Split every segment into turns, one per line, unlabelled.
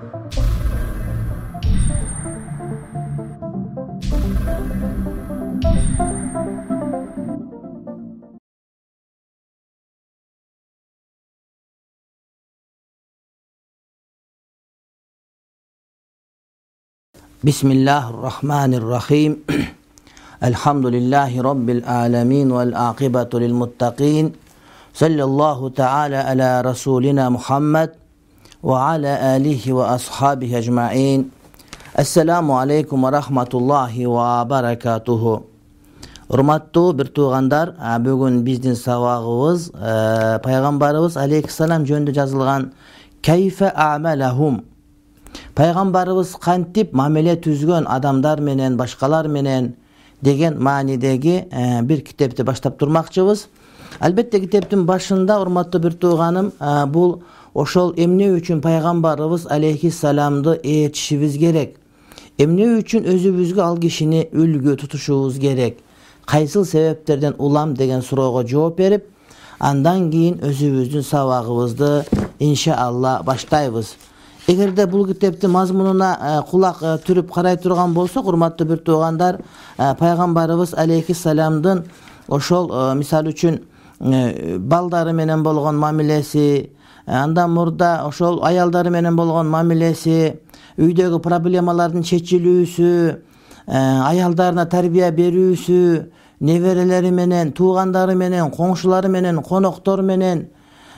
Bismillahirrahmanirrahim. Elhamdülillahi Rabbil alemin vel akibatu lil muttaqin. Sallallahu ta'ala ala Rasulina Muhammed ve ala alihi ve ashabihi ecma'in. Esselamu aleykum ve rahmatullahi ve berekatuhu. Urmattуу bir tuğandar, bugün bizdin sabagыбыз Peygamberimiz aleyhisselam jönündө жазылган Keyfe a'melahum. Peygamberimiz kantip mamele түзгөн адамдар менен, башкалар менен деген маанидеги bir китепти баштап турмакчыбыз. Албетте китептин башында, урматтуу бир тууганым, бул ошол эмне үчүн Пайгамбарыбыз алейхиссаламды ээрчишибиз керек? Эмне үчүн өзүбүзгө ал кишини үлгү тутушубуз керек? Кайсыл себептерден улам деген суроого жооп берип, андан кийин өзүбүздүн сабагыбызды иншаалла баштайбыз. Эгерде бул китептин мазмунуна кулак түрүп карай турган болсок, урматтуу бир туугандар, Пайгамбарыбыз алейхиссаламдын ошол мисалы үчүн балдары менен болгон мамилеси, андан мурда ошол аялдары менен болгон мамилеси, үйдөгү проблемалардын чечилүүсү, аялдарына тарбия берүүсү, неберелери менен, туугандары менен, коңшулары менен, коноктор менен,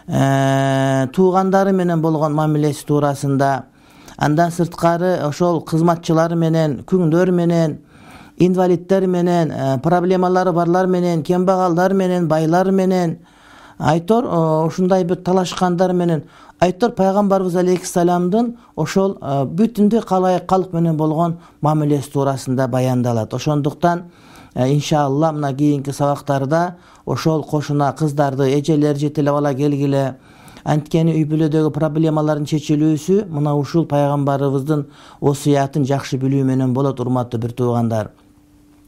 туугандары менен болгон мамилеси туурасында, андан сырткары ошол кызматчылары менен, күңдөр менен, инвалидтер менен, проблемалары барлар менен, кембагалдар менен, байлар менен, айтор ушундай бир талашкандар менен, айтор Пайгамбарыбыз алейхиссаламдын ошол бүтүндөй калк менен болгон мамилеси туурасында баяндалат. Ошондуктан иншаалла мына кийинки сабактарда ошол кошуна кыздарды, эжелер жетелеп ала келгиле, анткени үй бүлөдөгү проблемалардын чечилүүсү мына ушул Пайгамбарыбыздын осуятын жакшы билүү менен болот, урматтуу бир туугандар.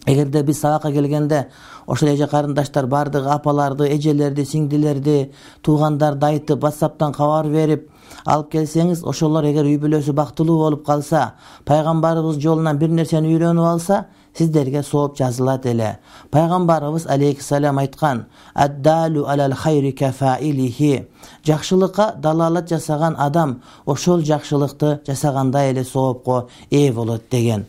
Эгерде биз сабакка келгенде ошол эже карындаштар бардыгы апаларды, эжелерди, сиңдилерди, туугандарды айтып, WhatsApp'тан кабар берип алып келсеңиз, ошолор эгер үй бүлөсү бактылуу болуп калса, Пайгамбарыбыз жолунан бир нерсени үйрөнүп алса, сиздерге сооп жазылат эле. Пайгамбарыбыз алейхиссалам айткан: "Аддалу алал хайри кафаилихи". Жакшылыкка далалат жасаган адам ошол жакшылыкты жасагандай эле соопко ээ болот деген.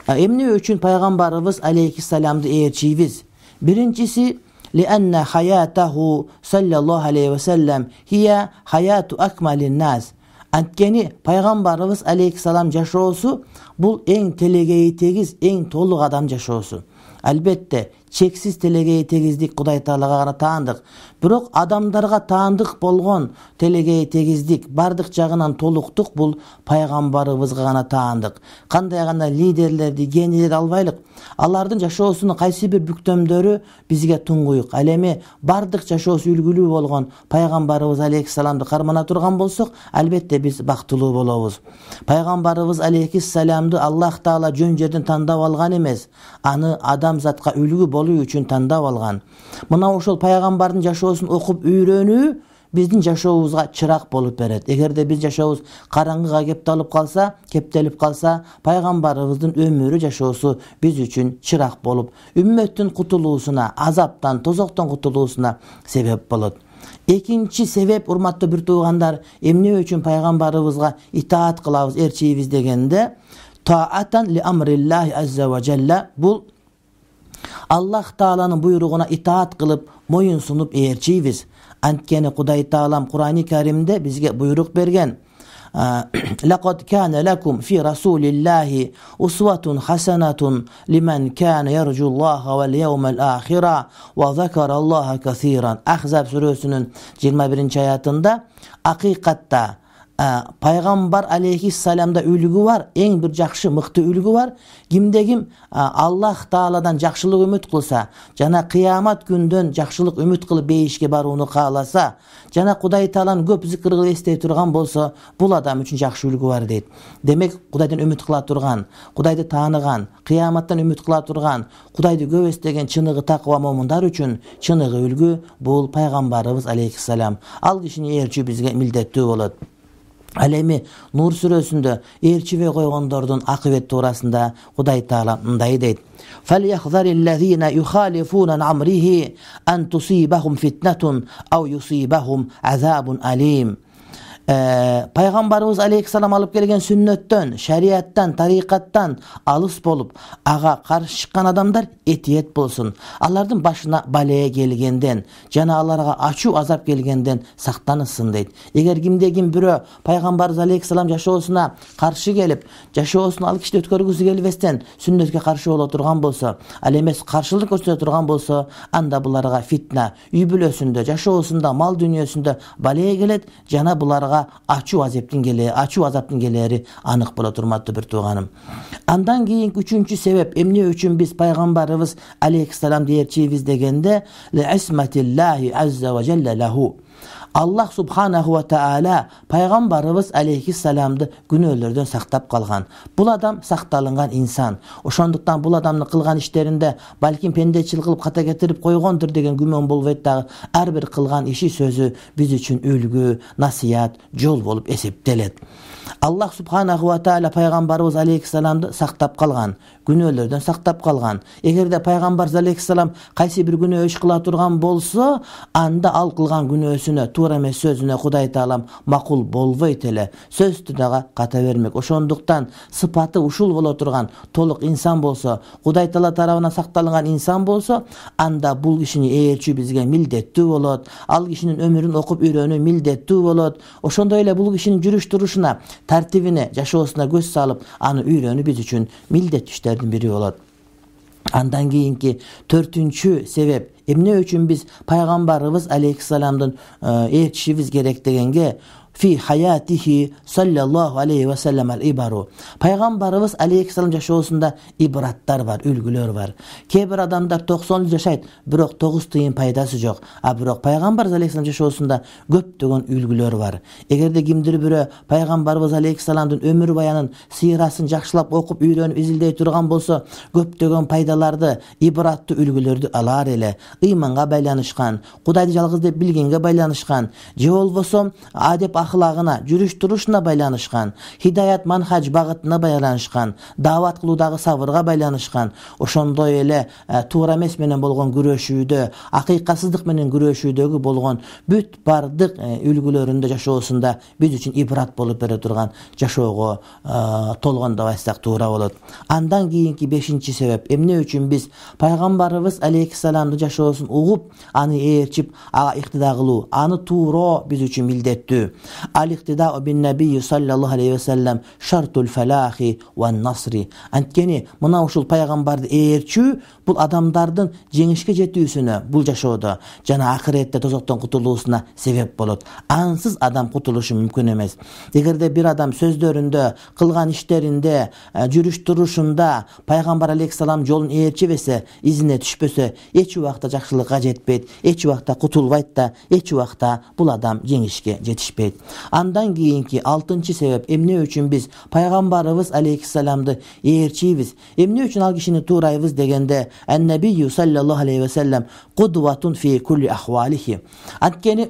Эмне үчүн Пайгамбарыбыз алейхиссаламды ээрчийбиз? Биринчиси, لأن حياته صلى الله عليه وسلم هي حياة أكمل الناس. Анткени Пайгамбарыбыз алейхиссалам жашоосу бул эң телегейи тегиз, эң толук адам жашоосу. Албетте, чексиз телегейи тегиздик Кудай Таалага гана таандык. Бирок адамдарга таандык болгон телегейи тегиздик, бардык жагынан толуктук бул Пайгамбарыбызга гана таандык. Кандай гана лидерлерди, генийлерди албайлык. Алардын жашоосунун кайсы бир бүктөмдөрү бизге туңгуюк. Ал эми бардык жашоосу үлгүлүү болгон Пайгамбарыбыз алейхиссаламды кармана турган болсок, албетте биз бактылуу болобуз. Пайгамбарыбыз алейхиссаламды Аллах Таала жөн жерден тандап алган эмес, аны адамзатка үлгү болуу үчүн тандап алган. Мына ошол Пайгамбардын жашоосун окуп үйрөнүү биздин жашообузга чырак болуп берет. Эгерде биз жашообуз караңгыга кептелип калса, Пайгамбарыбыздын өмүрү, жашоосу биз үчүн чырак болуп, үммөттүн кутулуусуна, азаптан, тозоктон кутулуусуна себеп болот. Экинчи себеп, урматтуу бир туугандар, эмне үчүн Пайгамбарыбызга итаат кылабыз, ээрчийбиз дегенде, таатан ли амриллахи азза ва жалла, бул Аллах Тааланын буйругуна итаат кылып, моюн сунуп ээрчийбиз. Анткени Кудай Таалам Кур'ани Каримде бизге буйрук берген: "Лакад кана лакум фи расулиллахи усватун хасанатун лиман кана яржуллаха вал яумал ахира ва закараллаха касиран". Ахзаб сүрөсүнүн 21-аятында акыйкатта Пайгамбар алейхиссаламда үлгү бар, эң бир жакшы, мыкты үлгү бар. Кимде ким Аллах Тааладан жакшылык үмүт кылса, жана кыямат күндөн жакшылык үмүт кылып бейишке барууну кааласа, жана Кудай Тааланы көп зикир кылып эстей турган болсо, бул адам үчүн жакшы үлгү бар дейт. Демек, Кудайдан үмүт кыла турган, Кудайды тааныган, кыяматтан үмүт кыла турган, Кудайды көп эстеген чыныгы таква момундар үчүн чыныгы үлгү бул Пайгамбарыбыз алейхиссалам. Ал кишини ээрчүү бизге милдеттүү болот. Ал эми Нур сүрөсүндө ээрчибей койгондордун акыбети туурасында Кудай Таала мындай дейт: فَلْيَحْذَرِ الَّذِينَ يُخَالِفُونَ عَنْ أَمْرِهِ أَنْ تُصِيبَهُمْ فِتْنَةٌ أَوْ يُصِيبَهُمْ عَذَابٌ أَلِيمٌ. Пайгамбарыбыз алейхиссалам алып келген сүннөттөн, шариаттан, тарикаттан алыс болуп, ага каршы чыккан адамдар этиет болсун. Алардын башына балее келгенден жана аларга ачуу азап келгенден сактанышсын дейт. Эгер кимде-ким бирөө пайгамбарыбыз алейхиссалам жашоосуна каршы келип, жашоосун ал киши өткөргүсү келбестен сүннөткө каршы боло турган болсо, ал эмес каршылык көрсөтө турган болсо, анда буларга фитна, үй бүлөсүндө, жашоосунда, мал дүнүйөсүндө балее келет жана буларга ачуу азаптын келери анык боло турматтуу бир тууганым. Андан кийинки үчүнчү себеп, эмне үчүн биз пайгамбарыбыз алейхиссаламды ээрчийбиз дегенде, ли'исматиллахи азза ва жалла лаху. Аллах субханаху ва таала пайгамбарыбыз алейхиссаламды күнөөлөрдөн сактап калган. Бул адам сакталынган инсан. Ошондуктан бул адамдын кылган иштеринде балким пендечилик кылып ката кетирип койгондур деген күмөн болбойт дагы. Ар бир кылган иши сөзү биз үчүн үлгү, насыят, жол болуп эсептелет. Аллах субханаху ва таала пайгамбарыбыз алейхиссаламды сактап калган, күнөөлөрдөн сактап калган. Эгерде пайгамбарыбыз алейхиссалам кайсы бир күнөө иш кыла турган болсо, анда ал кылган күнөөсүнө, туура эмес сөзүнө Кудай Таалам макул болбойт эле, сөз түнөгө ката бермек. Ошондуктан сыпаты ушул боло турган толук инсан болсо, Кудай Таала тарабынан сакталган инсан болсо, анда бул кишини ээрчүү бизге милдеттүү болот. Ал кишинин өмүрүн окуп үйрөнүү милдеттүү болот. Ошондой эле бул кишинин жүрүш турушуна, тартибине, жашоосуна көз салып, аны үйрөнүү биз үчүн милдеттүү иштердин бири болот. Андан кийинки төртүнчү себеп, эмне үчүн биз пайгамбарыбыз алейхиссаламдын ээрчишибиз керек дегенге, фи хаятихи саллаллаху алейхи ва саллям ал-ибару. Пайгамбарыбыз алейхиссалам жашоосунда ибраттар бар, үлгүлөр бар. Кээ бир адамдар 90 жыл жашайт, бирок 9 тыйын пайдасы жок. А бирок пайгамбарыбыз алейхиссалам жашоосунда көптөгөн үлгүлөр бар. Эгерде кимдир бирөө пайгамбарыбыз алейхиссаламдын өмүр баянын, сыйрасын жакшылап окуп, үйрөнүп, изилдей турган болсо, көптөгөн пайдаларды, ибраттуу үлгүлөрдү алар эле. Ыйманга байланышкан, Кудайды жалгыз деп билгенге байланышкан, же болбосо адеп ахлагына, жүрүш турушуна байланышкан, хидаят манхаж багытына байланышкан, даават кылуудагы сабырга байланышкан, ошондой эле туура эмес менен болгон күрөшүүдө, акыйкатсыздык менен күрөшүүдөгү болгон бүт бардык үлгүлөрүндө жашоосунда биз үчүн ибрат болуп бере турган жашоого толгон деп айтсак туура болот. Андан кийинки 5-чи себеп, эмне үчүн биз пайгамбарыбыз алейхиссаламдын жашоосун угуп, аны ээрчип, ага иктида кылуу, аны тууроо биз үчүн милдеттүү. Al-iqtida'u bin nabiyyi sallallahu aleyhi ve sellem şartul felahi ve nasri. Antkeni mına ушул пайгамбарды ээрчүү бул адамдардын жеңишке жетүүсүнө, бул жашоодо жана акыретте тозоктон кутулуусуна себеп болот. Ансыз адам кутулушу мүмкүн эмес. Эгерде бир адам сөздөрүндө, кылган иштеринде, жүрүш турушунда пайгамбар алейхиссалам жолун ээрчибесе, изине түшпөсө, эч убакта жакшылыкка жетпейт, эч убакта кутулбайт да, эч убакта бул адам жеңишке жетишпейт. Андан кийинки 6-чы себеп, эмне үчүн биз пайгамбарыбыз алейхиссаламды ээрчийбиз, эмне үчүн ал кишини туурайбыз дегенде, ан-набийю саллаллаху алейхи ва саллям кудватун фи кулли ахвалихи. Анткени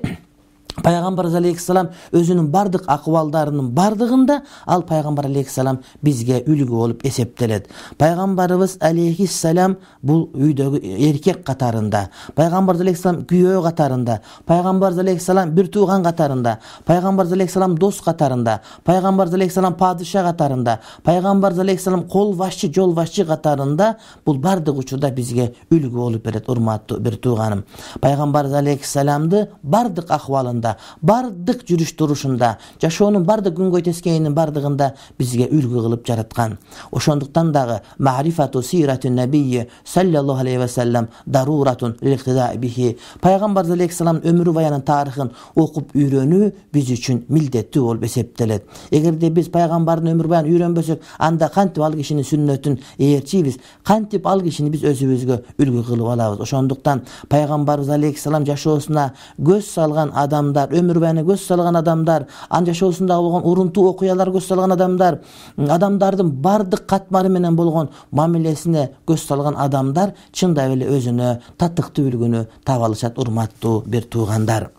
пайгамбарыбыз алейхиссалам өзүнүн бардык акыбалдарынын бардыгында ал пайгамбар алейхиссалам бизге үлгү болуп эсептелет. Пайгамбарыбыз алейхиссалам бул үйдөгү эркек катарында, пайгамбарыбыз алейхиссалам күйөө катарында, пайгамбарыбыз алейхиссалам бир тууган катарында, пайгамбарыбыз алейхиссалам дос катарында, пайгамбарыбыз алейхиссалам падыша катарында, пайгамбарыбыз алейхиссалам кол башчы, жол башчы катарында бул бардык учурда бизге үлгү болуп берет, урматтуу бир тууганым. Пайгамбарыбыз алейхиссаламды бардык акыбалында, бардык жүрүш турушунда, жашоонун бардык күнгөй тескейинин бардыгында бизге үлгү кылып жараткан. Ошондуктан дагы ма'рифату сиратун набийи саллаллаху алейхи ва саллям даруратун лил-иктидаи бихи. Пайгамбар алейхиссалам өмүр баянын тарыхын окуп үйрөнүү биз үчүн милдеттүү болуп эсептелет. Эгерде биз пайгамбардын өмүр баянын үйрөнбөсөк, анда кантип ал кишинин сүннөтүн ээрчийбиз, кантип ал кишини биз өзүбүзгө үлгү кылып алабыз. Ошондуктан пайгамбарыбыз алейхиссалам жашоосуна көз салган адамдар, өмүр баянына көз салган адамдар, анын жашоосунда болгон урунтуу окуялар көз салган адамдар, адамдардын бардык катмары менен болгон мамилесине көз салган адамдар чындап эле өзүнө татыктуу үлгүнү таба алышат, урматтуу бир туугандар.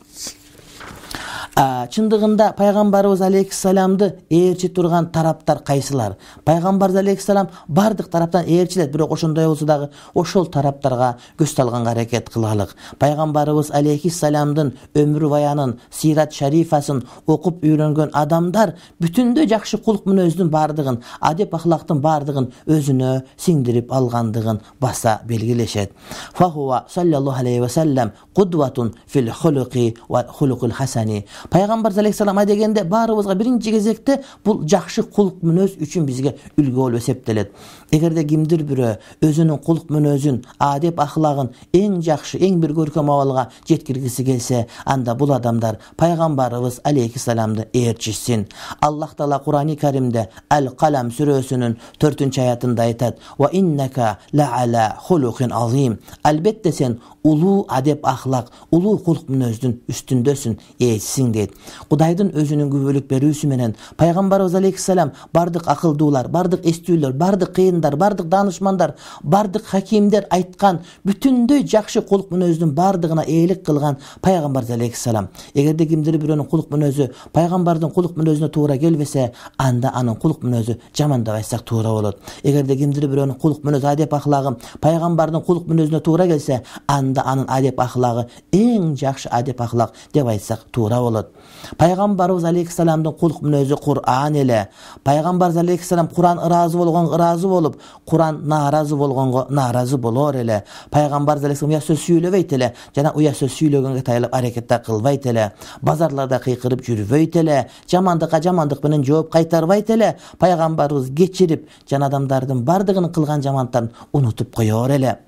Чындыгында пайгамбарыбыз алейхиссаламды ээрчи турган тараптар кайсылар? Пайгамбарыбыз алейхиссалам бардык тараптан ээрчилет, бирок ошондой болсо дагы ошол тараптарга көз салганга аракет кылалык. Пайгамбарыбыз алейхиссаламдын өмүр баянын, сират шарифасын окуп үйрөнгөн адамдар бүтүндөй жакшы кулк мүнөздүн бардыгын, адеп ахлактын бардыгын өзүнө сиңдирип алгандыгын баса белгилешет. Фахуа саллаллаху алейхи ва саллям кудватун фил хулуqi ва хулуqul хасани. Пайгамбар алейхиссалам дегенде баарыбызга биринчи кезекте бул жакшы кулк мүнөз үчүн бизге үлгү болуп эсептелет. Эгерде кимдир бирөө өзүнүн кулк мүнөзүн, адеп ахлагын эң жакшы, эң бир көркөм абалга жеткиргиси келсе, анда бул адамдар пайгамбарыбыз алейхиссаламды ээрчисин. Аллах Таала Кур'ани Каримде Ал-Қалам сүрөсүнүн 4-аятында айтат: "Ва иннака ла ала хулуqin азим." Албетте сен улуу адеп ахлак, улуу кулк мүнөздүн үстүндөсүн, ээсиң дейт. Кудайдын өзүнүн күбөлүк берүүсү менен пайгамбарыбыз алейхиссалам бардык акылдуулар, бардык эстүүлөр, бардык кыйындар, бардык даанышмандар, бардык хакимдер айткан бүтүндөй жакшы кулк мүнөздүн бардыгына ээлик кылган пайгамбарыбыз алейхиссалам. Эгерде кимдир бирөөнүн кулк мүнөзү пайгамбардын кулк мүнөзүнө туура келбесе, анда анын кулк мүнөзү жаман деп айтсак туура болот. Эгерде кимдир бирөөнүн кулк мүнөзү, адеп ахлагы пайгамбардын кулк мүнөзүнө туура келсе, анда анын адеп ахлагы эң жакшы адеп ахлак деп айтсак туура болот. Пайгамбарыбыз алейхиссаламдын кулк мүнөзү Кур'ан эле. Пайгамбарыбыз алейхиссалам Кур'ан ыраазы болгонго ыраазы болуп, Кур'ан нааразы болгонго нааразы болор эле. Пайгамбарыбыз алейхиссалам уя сөз сүйлөбөйт эле, жана уя сөз сүйлөгөнгө тайылып аракет кылбайт эле. Базарларда кыйкырып жүрбөйт эле, жамандыкка жамандык менен жооп кайтарбайт эле. Пайгамбарыбыз кечирип, жана адамдардын бардыгынын кылган жамандыктарын унутуп коёр эле.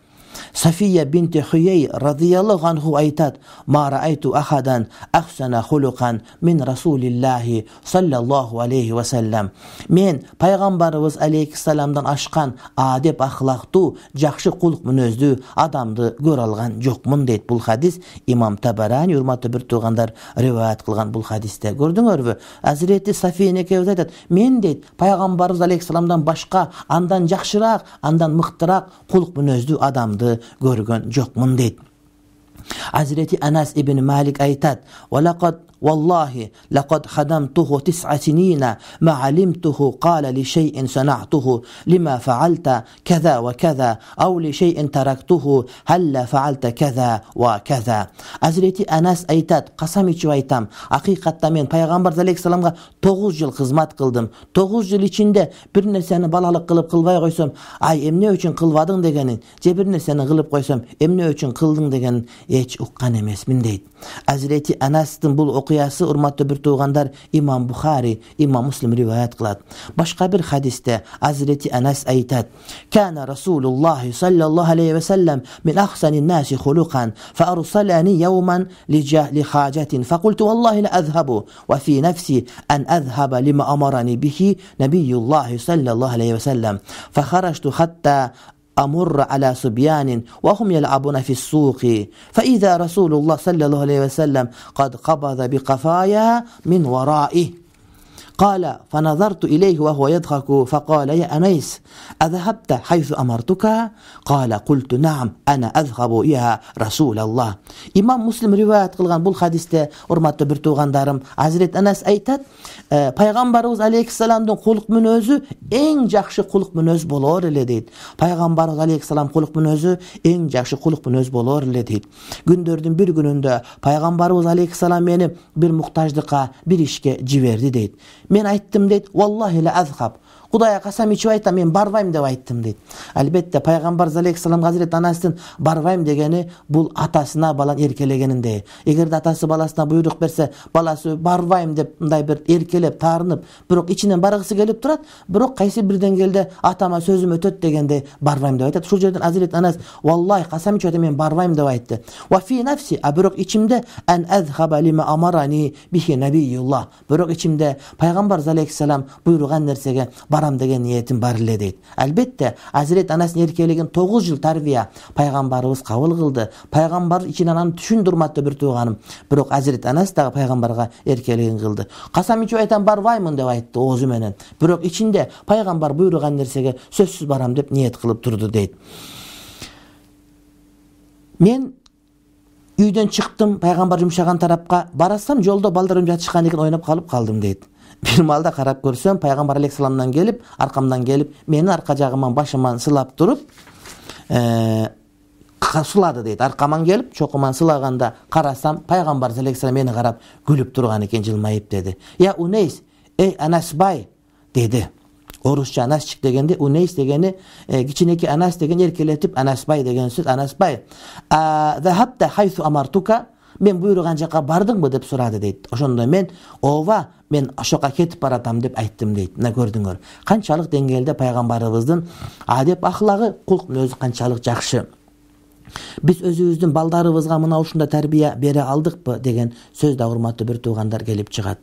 Safiya binti Huyey radıyallahu anhu aytat: "Ma ra'aytu ahadan ahsana huluqan min Rasulillahi sallallahu aleyhi ve sellem." Men Peygamberimiz aleyhisselamdan aşkan adep ahlaktu, jakşı kuluk münözdü adamdı gör algan jokmun deyt. Bul hadis İmam Tabarani urmatlı bir tuğandar rivayet kılgan bul hadiste. Gördüңөрбү? Hazreti Safiye nekebez aytat: "Men deyt Peygamberimiz aleyhisselamdan başka, andan jakşırak, andan mıktırak kuluk münözdü adamdı görgön jokmun deyt." Hazreti Anas ibn Malik aytat: "Walaqad Wallahi laqad khadamtuhu 9 sinina ma alimtuhu qala li shay'in sana'tuhu lima fa'alta kaza wa kaza aw li shay'in taraktuhu halla fa'alta kaza wa kaza." Hazreti Anas aytat: "Qasam içip aytam, haqiqatda men Peygamber aleyhisselamga 9 yıl hizmet kıldım. 9 yıl içinde bir nerseni balalık kılıp kılbay koysam, ay emne üçün kılbadın degenin, je bir nerseni kılıp koysam, emne üçün kıldın degenin hiç ukkan emesmin" deyt. Hazreti Anas'tın bul okuyası urmatlı bir tuğandar İmam Bukhari, İmam Muslim rivayet kılat. Başka bir hadiste Hazreti Anas aytat: "Kana Rasulullah sallallahu aleyhi ve sellem min ahsanin nasi hulukan fa arsalani yawman li hajatin fa qultu wallahi la azhabu wa fi nafsi an azhaba lima amarani bihi Nabiyullah sallallahu aleyhi ve sellem fa kharajtu hatta أمر على صبيان وهم يلعبون في السوق فإذا رسول الله صلى الله عليه وسلم قد قبض بقفايا من ورائه قال فنظرت إليه وهو يضحك فقال: يا أنيس أذهبت حيث أمرتك؟ قال: قلت نعم أنا أذهب يا رسول الله." İmam Muslim rivayet kılgan bul hadiste urmatlı bir tuğandarım Hazret Anas aytat: "Peygamberimiz aleyhisselamdın kuluk münözü en jakşı kuluk münöz bolor ele deyt. Peygamberimiz aleyhisselam kuluk münözü en jakşı kuluk münöz bolor ele deyt. Gündördün bir gününde Peygamberimiz aleyhisselam meni bir muhtajlıkka, bir işke jiberdi deyt. Men ayttım deyt, wallahi la azhab. Kudaya kasam içip aytam, men barbayım dep ayttım deyt. Albatta Peygamberimiz aleyhisselam Hazret Anas'tın barbayım degeni bul atasına balan erkelegeninde. Egerde atası balasına buyruk berse, balası barbayım dep mınday bir erkelep, tarınıp, birok içinden bargısı gelip turat, birok kaysi birden geldi atama sözüm ötöt degende barbayım dep aytat. Şu жерден Hazret Anas wallahi kasam içip aytam, men barbayım dep ayttı. Wa fi nafsi, birok içimde en azhaba lima amarani bihi Nabiyullah. Birok içimde Peygamberimiz aleyhisselam buyrugan nersege baram degen niyetim bar ele deyt. Albatta Hazret Anas'ın erkeligin 9 yıl tarbiya Peygamberimiz kabul kıldı. Peygamber içinden anı düşündürmatlı bir tuğanım. Birok Hazret Anas da Peygamberga erkeligin kıldı. Kasam içip aytan barbayımın dep ayttı oğuzu menen. Birok içinde Peygamber buyrugan nersege sözsüz baram dep niyet kılıp durdu deyt. Men үйдөн чыктым пайгамбар жумшаган тарапка, барасам жолдо балдарым жатышкан экен, ойноп калдым дейт. Бир маалда карап көрсөм пайгамбар алейхисаламдан келип, аркамдан келип, мени арка жагыман башыман сылап туруп, сулады дейт. Аркаман келип, чокуман сылаганда карасам пайгамбар алейхисалам мени карап күлүп турган экен, жылмайып деди. Я Унейс, эй Анасбай деди. Орусча Анасчик дегенде, Унейс дегени кичинекей, Анас деген эркелетип, Анасбай деген сөз. Анасбай, захабта хайсу амартука, мен буйруган жака бардыңбы деп сурады дейт. Ошондо мен ооба, мен ошока кетип баратам деп айттым дейт. Мына көрдүңөр, канчалык деңгээлде пайгамбарыбыздын адеп ахлагы, кулк мүнөзү канчалык жакшы. Биз өзүбүздүн балдарыбызга мына ушундай тарбия бере алдыкпы деген сөз да, урматтуу бир туугандар, келип чыгат.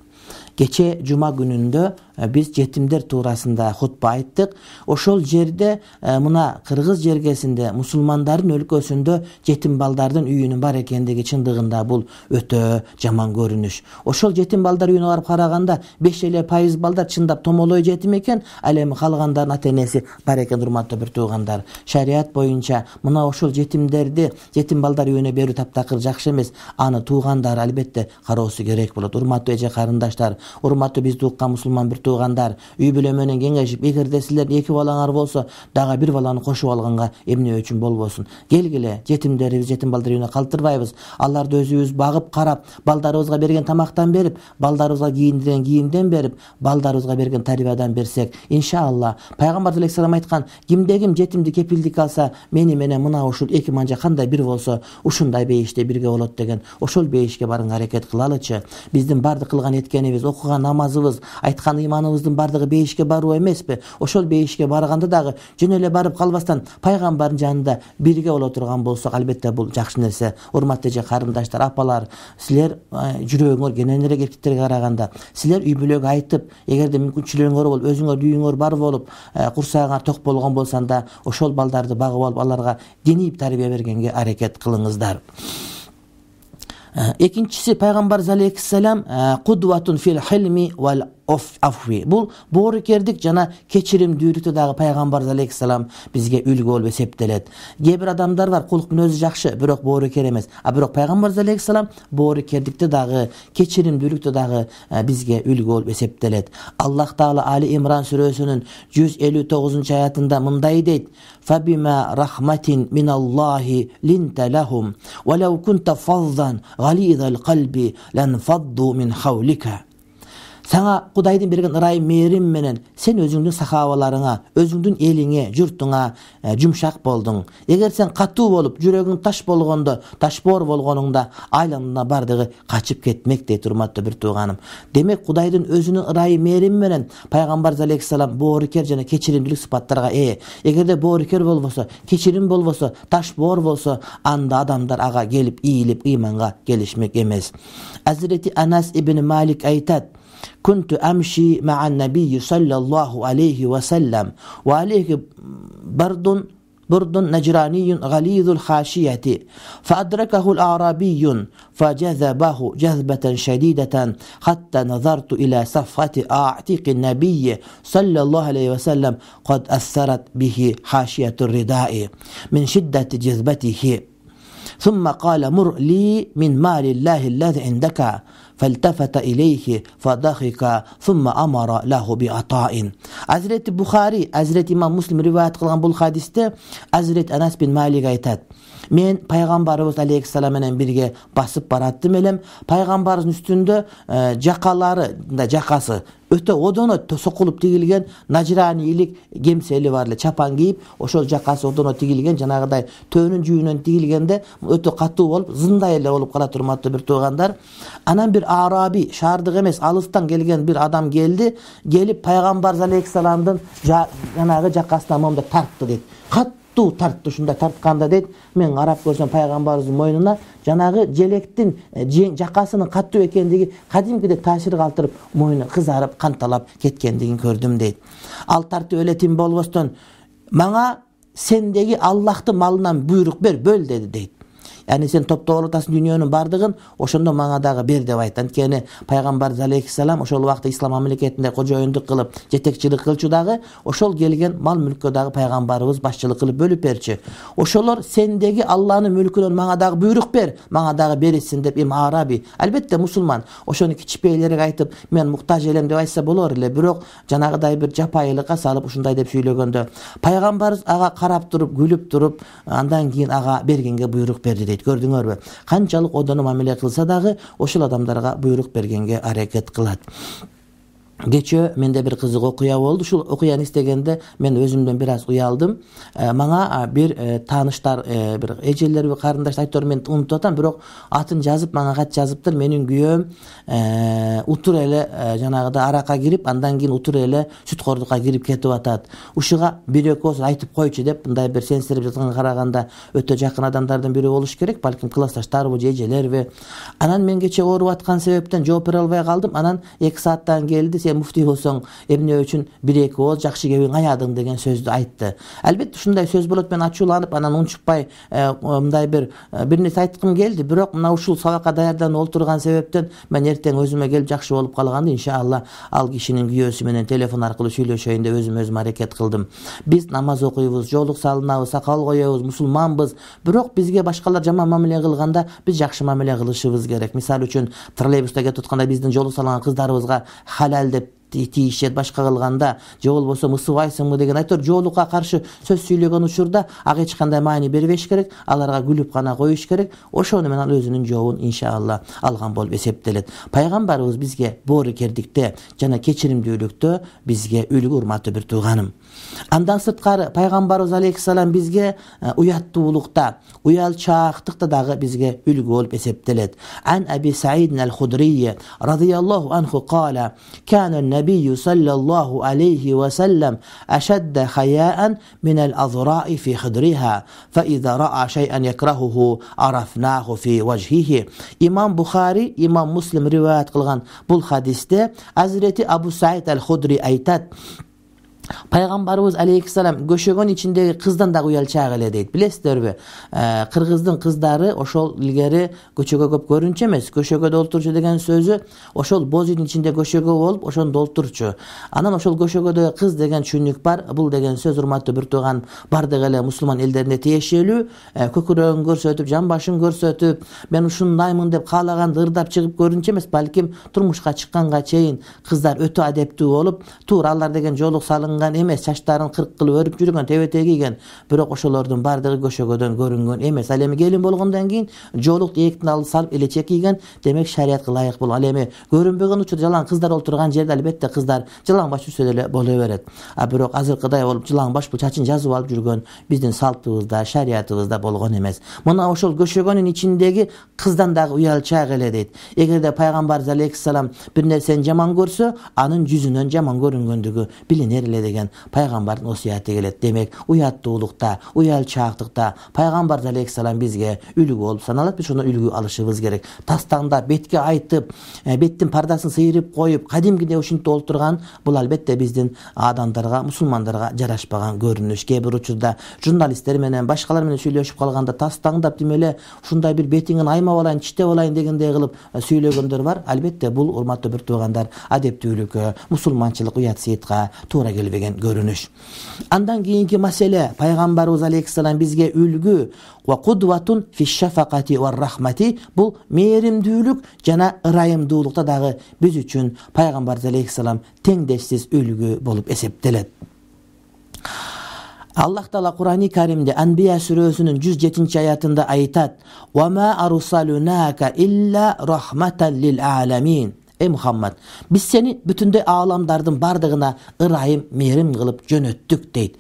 Кече жума күнүндө биз жетимдер туурасында хутба айттык. Ошол жерде мына Кыргыз жергесинде, мусулмандардын өлкөсүндө жетим балдардын үйүнүн бар экендиги чындыгында бул өтө жаман көрүнүш. Ошол жетим балдар үйүнө барып караганда 5% балдар чындап томолой жетим экен, ал эми калгандардын ата-энеси бар экен. Урматтуу бир туугандар, шарият боюнча мына ошол жетимдерди жетим балдар үйүнө берүү таптакыр жакшы эмес. Аны туугандар албетте кароосу керек болот. Урматтуу эже карындаштар, урматтуу бизди уккан мусулман бир туугандар, үй бүлө менен кеңешип, эгерде силердин 2 балаңар болсо, дагы 1 баланы кошуп алганга эмне үчүн болбосун. Келгиле, жетимдерибиз, жетим балдар үйүнө калтырбайбыз. Аларды өзүбүз багып, карап, балдарыбызга берген тамактан берип, балдарыбызга кийиндирген кийимден берип, балдарыбызга берген тарбиядан берсек, иншалла, пайгамбар алейхисалам айткан, кимде ким жетимди кепилдик алса, мени менен мына ушул 2 манжа кандай бир болсо, ушундай бейиште бирге болот деген. Ошол бейишке барганга аракет кылалычы. Биздин бардык кылган эткенибиз, окуган намазыбыз, айткан ыйманыбыздын бардыгы бейишке баруу эмеспи? Ошол бейишке барганда дагы жөн эле барып калбастан пайгамбардын жанында бирге боло турган болсок, албетте бул жакшы нерсе. Урматтуу эже карындаштар, апалар, силер жүрөгүңөр кененирээк эркектерге караганда, силер үй бүлөгө айтып, эгерде мүмкүнчүлүгүңөр болуп, өзүңөр үйүңөр бар болуп, курсагыңар ток болгон болсоң, ошол балдарды багып алып, аларга диний тарбия бергенге аракет кылыңыздар. Экинчиси, пайгамбар алейхиссалам кудватун фил хилми вал афви. Бул боорукердик жана кечиримдүүлүктө дагы пайгамбар алейхиссалам бизге үлгү болуп эсептелет. Кээ бир адамдар бар, кулк мүнөзү жакшы, бирок боорукер эмес. Бирок пайгамбар алейхиссалам боорукердикте дагы, кечиримдүүлүктө дагы бизге үлгү болуп эсептелет. Аллах Таала Али Имран сүрөсүнүн 159-аятында мындай дейт: "Фабима рахматин миналлахи линта лахум, ва лау кунта фаззан галидал калби ланфадду мин хавлика." Саңа Кудайдын берген ырайым мээрим менен сен өзүңдүн сахабаларыңа, өзүңдүн элиңе, журтуңа жумшак болдуң. Эгер сен катуу болуп, жүрөгүң таш болгондо, ташбоор болгонуңда, айланына бардыгы качып кетмек дейт, урматтуу бир тууганым. Демек Кудайдын өзүнүн ырайым мээрим менен пайгамбар алейхисалам боорукер жана кечиримдүүлүк сыпаттарга ээ. Эгерде боорукер болбосо, кечирим болбосо, ташбоор болсо, анда адамдар ага келип, ийилип, ыйманга келишмек эмес. Азирети Анас ибн Малик айтат: كنت أمشي مع النبي صلى الله عليه وسلم وعليه برد نجراني غليظ الخاشية فأدركه الأعرابي فجذبه جذبة شديدة حتى نظرت إلى صفحة أعتق النبي صلى الله عليه وسلم قد أثرت به حاشية الرداء من شدة جذبته ثم قال: مر لي من مال الله الذي عندك. فالتفت إليه فضحك ثم أمر له بعطاء. Hazreti Bukhari, Hazreti İmam Muslim rivayet kılgan bu hadiste Hazreti Anas bin Malik aytат: Men Peygamberimiz Aleyhisselam менен birge basıp barattım elem. Peygamberimizin üstünde jakası öte odono sokulup tigilgen najranilik gemseli var, çapan giyip oşol jakası odono tigilgen, janagıday töөнүн жүйүнөн tigilgende öte katуу болуp, zınday ele olup kala turmatты bir tuğandar. Anan bir Arabi, şahardık emес, alıstan gelgen bir adam geldi. Gelip Peygamber Aleyhisselam'dın janagı jakasına momda tarttı deydi. Tarttı, şunda tartkanda deydi. Men karap görsem Peygamberimizin moynuna janagı jelektin jakasının kattуу ekendigi kadimkide taşir kaltırıp moynu kızarıp kantalap ketkendigin gördüm deydi. Al tarttı öletim bolboston, "Mağa sendegi Allah'tı malından buyruk ber, böl" dedi deydi. яни сен топтоп атасың дүйнөнүн бардыгын, ошондо мага дагы бер деп айт. Анткени пайгамбарыбыз алейхиссалам ошол убакта ислам мамлекетинде кожоюндук кылып, жетекчилик кылчу дагы, ошол келген мал мүлккө дагы пайгамбарыбыз башчылык кылып бөлүп берчү. Ошолор сендеги Алланын мүлкүнөн мага дагы буйрук бер, мага дагы берилсин деп Араби, албетте мусулман, ошону кичпейлерге айтып, мен муктаж элем деп айтса болор эле, бирок жанагыдай бир жапайылыкка салып ушундай деп сүйлөгөндө пайгамбарыбыз ага карап туруп, күлүп туруп, андан кийин ага бергенге буйрук берди дейт. Көрдүңөрбү? Канчалык одону мамиле кылса дагы ошол адамдарга буйрук бергенге аракет кылат. Кечээ менде бир кызык окуя болду. Ушул окуяны эстегенде мен өзүмдөн бир аз уялдым. Мага бир тааныштар, бир эжелер, карындаштар айтор, мен унутуп атам, бирок атын жазып мага кат жазыптыр. Менин күйөөм утур эле жанагыда аракка кирип, андан кийин утур эле сүткордукка кирип кетип атат. Ушуга бир-экөөсү айтып койчу деп, мындай бир сенсирип жатканга караганда өтө жакын адамдардын бири болуш керек, балким классташтарбы же эжелерби. Анан мен кечээ ооруп аткан себептен жооп бере албай калдым. Анан 2 сааттан келди, муфтий болсоң эмне үчүн 1-2 ооз жакшы кебин аядың деген сөздү айтты. Албетте ушундай сөз болот, мен ачууланып, анан унчукпай мындай бир нерсе айткым келди, бирок мына ушул сабакка даярданып олтурган себептен мен эртең өзүмө келип жакшы болуп калганда иншалла ал кишинин күйөөсү менен телефон аркылуу сүйлөшөйүн деп өзүм аракет кылдым. Биз намаз окуйбуз, жоолук салынабыз, сакал коебуз, мусулманбыз, бирок бизге башкалар жаман мамиле кылганда биз жакшы мамиле кылышыбыз керек. Мисалы үчүн троллейбуста кетип атканда биздин жоолук салган кыздарыбызга халал деп тийишет, башка кылганда же болбосо мысыбайсыңбы деген айтор, жоолукка каршы сөз сүйлөгөн учурда ага эч кандай маани бербеш керек, аларга күлүп гана коюш керек. Ошону менен ал өзүнүн жообун иншалла алган болуп эсептелет. Пайгамбарыбыз бизге боорукердикте жана кечиримдүүлүктө бизге үлгү, урматтуу бир тууганым. Андан сырткары пайгамбарыбыз алейхиссалам бизге уяттуулукта, уялчаактыкта дагы бизге үлгү болуп эсептелет. Ан Аби Саид аль-Худрий радыйаллаху анху кала: "Кана النبي صلى الله عليه وسلم أشد حياء من الأذراء في خدرها فإذا رأى شيئا يكرهه عرفناه في وجهه." İmam Bukhari, İmam Muslim rivayet kılgan bu hadiste Hazreti Abu Sa'id el-Hudri aytat: Пайгамбарыбыз алейхиссалам көшөгөн ичиндеги кыздан да уялчаак эле дейт. Билесиздерби? Кыргыздын кыздары ошол илгери көчөгө көп көрүнчү эмес, көшөгөдө олтурчу деген сөзү ошол боз үйдүн ичинде көшөгө болуп, ошондо олтурчу. Анан ошол көшөгөдө кыз деген түшүнүк бар. Бул деген сөз, урматтуу бир тууган, бардык эле мусулман элдерине тиешелүү. Көкүрөгүн көрсөтүп, жан башын көрсөтүп, мен ушундаймын деп каалаганды ырдап чыгып көрүнчү эмес, балким турмушка чыкканга чейин кыздар өтө адептүү болуп, туура алар деген жоолук салынган эмес, чачтарын кырк кылып өрүп жүргөн, тебете кийген, бирок ошолордун бардыгы көшөгөдөн көрүнгөн эмес. Ал эми келин болгондон кийин жоолукту эктин алып салып элечек кийген, демек шариятка ылайык болгон. Ал эми көрүнбөгөн учурда жалаң кыздар олтурган жерде албетте кыздар жылаң баш жүрсө деле боло берет. Бирок азыркыдай болуп жылаң баш бул чачын жазып алып жүргөн биздин салтыбызда, шариятыбызда болгон эмес. Мына ошол көшөгөнүн ичиндеги кыздан дагы уялчаак эле дейт. Эгерде пайгамбарыбыз алейхиссалам бир нерсени жаман көрсө, анын жүзүнөн жаман көрүнгөндүгү билинер эле деген пайгамбардын осуяты келет. Демек, уяттуулукта, уялчаактыкта пайгамбар алейхиссалам бизге үлгү болуп саналат. Биз ошондон үлгү алышыбыз керек. Тастаңдап, бетке айтып, беттин пардасын сыйрып коюп, кадимкиде ушинтип олтурган бул албетте биздин адамдарга, мусулмандарга жарашпаган көрүнүш. Кээ бир учурда журналисттер менен, башкалар менен сүйлөшүп калганда тастаңдап демеле ушундай бир бетиңин аймап алайын, чиштеп алайын дегендей кылып сүйлөгөндөр бар. Албетте бул, урматтуу бир туугандар, адептүүлүккө, мусулманчылык, уят сыйтка туура келбеген көрүнүш. Андан кийинки маселе, пайгамбарыбыз алейхиссалам бизге үлгү ва кудватун фи шафакати ва рахмати, бул мээримдүүлүк жана ырайымдуулукта дагы биз үчүн пайгамбарыбыз алейхиссалам теңдешсиз үлгү болуп эсептелет. Аллах Таала Кур'ан-ы Каримде Анбия сүрөсүнүн 107-аятында айтат: "Ва ма арсалунака илля рахматан лил аламин." Эй Мухаммад, биз сени бүтүндөй ааламдардын бардыгына ырайым, мээрим кылып жөнөттүк дейт.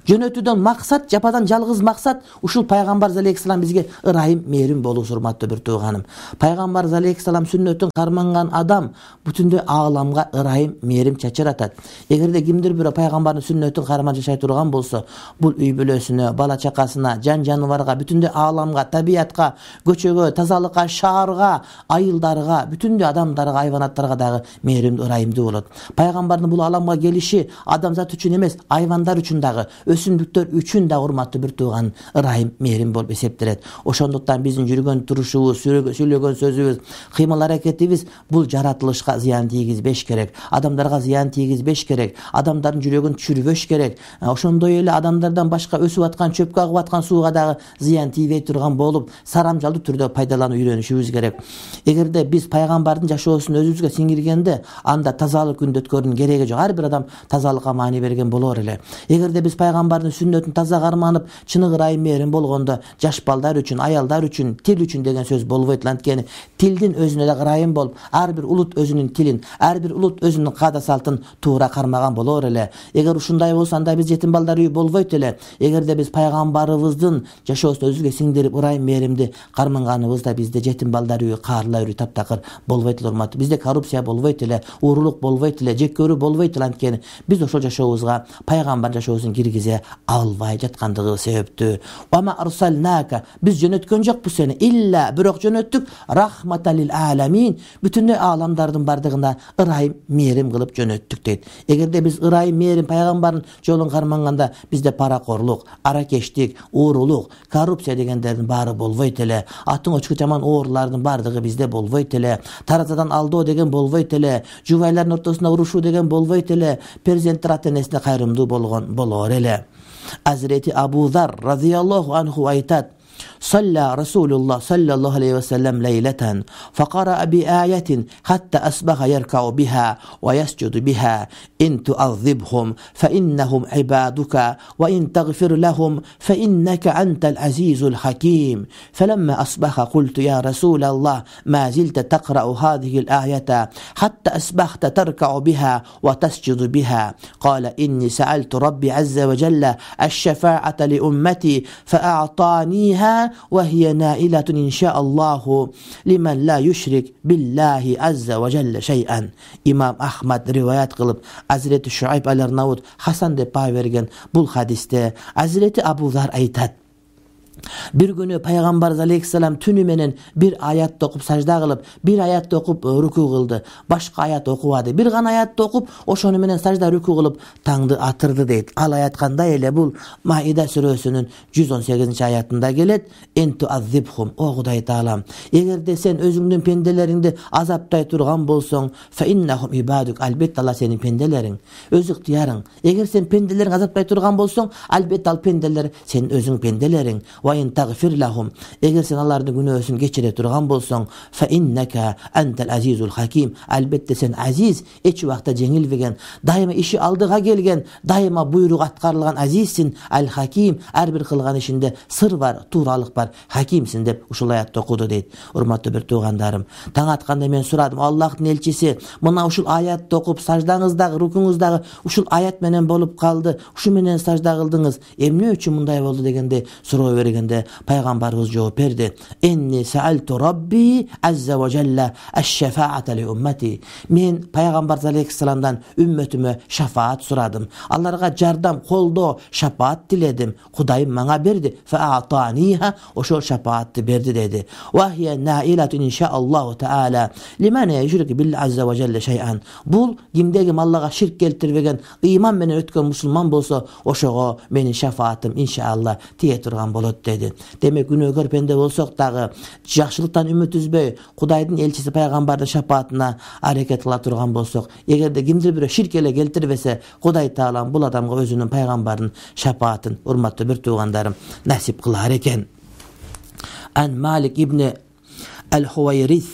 Жөнөтүүдөн максат, жападан жалгыз максат ушул пайгамбарыбыз алейхиссалам бизге ырайым, мээрим болуусу, урматтуу бир тууганым. Пайгамбарыбыз алейхиссалам сүннөтүн карманган адам бүтүндөй ааламга ырайым, мээрим чачыратат. Эгерде кимдир бирөө пайгамбардын сүннөтүн карман жашай турган болсо, бул үй бүлөсүнө, бала чакасына, жан жаныбарга, бүтүндөй ааламга, табиятка, көчөгө, тазалыкка, шаарга, айылдарга, бүтүндөй адамдарга, айванаттарга дагы мээримдүү, ырайымдуу болот. Пайгамбардын бул ааламга келиши адамзат үчүн эмес, айвандар үчүн дагы өсүмдүктөр үчүн да урматтуу бир тууган ырайым мээрим болуп эсептелет. Ошондуктан биздин жүргөн турушубуз, сүйлөгөн сөзүбүз, кыймыл аракетибиз бул жаратылышка зыян тийгизбеш керек, адамдарга зыян тийгизбеш керек, адамдардын жүрөгүн түшүрбөш керек. Ошондой эле адамдардан башка өсүп аткан, чөпкө агып аткан сууга дагы зыян тийбей турган болуп, сарамжалдуу түрдө пайдаланып үйрөнүшүбүз керек. Эгерде биз пайгамбардын жашоосун өзүбүзгө сиңиргенде, анда тазалык күндө өткөрүүнүн кереги жок. Ар бир адам тазалыкка маани берген болор эле. Эгерде биз пайгамбардын сүннөтүн таза карманып, чыныгы ырайым мээрим болгондо, жаш балдар үчүн, аялдар үчүн, тил үчүн деген сөз болбойт. Анткени тилдин өзүнө да ырайым болуп, ар бир улут өзүнүн тилин, ар бир улут өзүнүн каада салтын туура кармаган болор эле. Эгер ушундай болсо, анда биз жетим балдар үйү болбойт эле. Эгерде биз пайгамбарыбыздын жашоосун өзүбүзгө сиңдирип, ырайым мээримди карманганыбызда бизде жетим балдар үйү, каарла үйү таптакыр болбойт эле урматтуу. Бизде коррупция болбойт эле, уурулук болбойт эле, жек көрүү болбойт эле. Анткени биз ошол жашообузга пайгамбар жашоосун киргизе албай жаткандыгы себептүү. Вама арсалнака, биз жөнөткөн жокпуз сени илля, бирок жөнөттүк рахматал лил аламин, бүтүндөй ааламдардын бардыгына ырайым мээрим кылып жөнөттүк дейт. Эгерде биз ырайым мээрим пайгамбардын жолун карманганда, бизде паракорлук, аракештик, уурулук, коррупция дегендердин баары болбойт эле. Атын очку жаман оорулардын бардыгы бизде болбойт эле. Таразадан алдоо деген болбойт эле. Жубайлардын ортосунда урушуу деген болбойт эле. Перзенттер ата энесине кайрымдуу болор эле. Азирети Абу Зар радияллаху анху айтат: صلى رسول الله صلى الله عليه وسلم ليلة فقرأ بآية حتى أصبح يركع بها ويسجد بها إن تعذبهم فإنهم عبادك وإن تغفر لهم فإنك أنت العزيز الحكيم. فلما أصبح قلت يا رسول الله ما زلت تقرأ هذه الآية حتى أصبحت تركع بها وتسجد بها؟ قال إني سألت ربي عز وجل الشفاعة لأمتي فأعطانيها وهي نائلة إن شاء الله لمن لا يشرك بالله عز وجل شيئا. İmam Ahmad rivayet kılıp Hazreti Şuayb al-Arnavut Hasan de pay vergen bul hadiste Hazreti Abu Zar aytat: Bir günü Peygamberimiz Aleyhisselam tünü menen bir ayat okup sajda kılıp, bir ayat okup ruku kıldı. Başka ayat okuvadı. Bir gana ayat okup oşonu menen sajda ruku kılıp tаңды atırdı deyt. Al ayat kандай ele bul Maide surösünün 118. ayatında gelet. Entu azzibhum. O Hudaý Taalam, egerde sen özüңdün pendeleringdi azaptay turgan bolsoň, fe innahum ibaduk, albet Allah senin pendelerin, öz ihtiyarın. Eger sen pendelerin azaptay turgan bolsoň, albet al pendeler senin özüň pendelerin. Wa in tagfir lahum, eger sen alардын günөөsүн geçire turgan bolsoň, fe innaka entel azizul hakim, albette sen aziz, eç wagtda jeňilbegen, daima işi aldıga gelgen, daima buyruk atkarılgan azizsin, al hakim, her bir kılgan işinde sır var, tuğralık var, hakimsin dep uşul ayatты okudu deyt. Urmatlı bir tuğandarım, taң atkanda men suradım, Allah'ın elçisi mına uşul ayatты okup sajdaňyzdagı, rukuňyzdagı uşul ayat menen bolup kaldı, uşu menen sajda kıldınız, emne üçin munday boldu degende suroo bergende Peygamberimiz жооп berdi. Enni sa'altu Rabbi azza ve celle eş-şefaate li ummeti. Men Peygamber Aleyhisselam'dan ümmetime şefaat suradım. Allarga jardam, koldo, şefaat diledim. Hudaýym maňa berdi. Fe a'taniha, oşol şefaatty berdi dedi. Wa hiye nailatun inşaallahu taala limen yushrik billahi azza ve celle şey'an. Bul kimdegim Allah'a şirk keltirбеген, iman menen ötken musulman bolsa, oşoga menin şefaatim inşallah tiye turgan bolot dedi. Demek günögör pende bolsok dagı jakşylyktan ümit üzböy, Hudaýdyn elçisi Peygamberden şefaatina hareket kıla turgan bolsok, egerde kimdir bir şirk ele keltirbese, Hudaý Taalam bul adamga özünün Peygamberinin şefaatin urmatly bir tuğandarym nasip kılar eken. An Malik ibn al-Huwayrith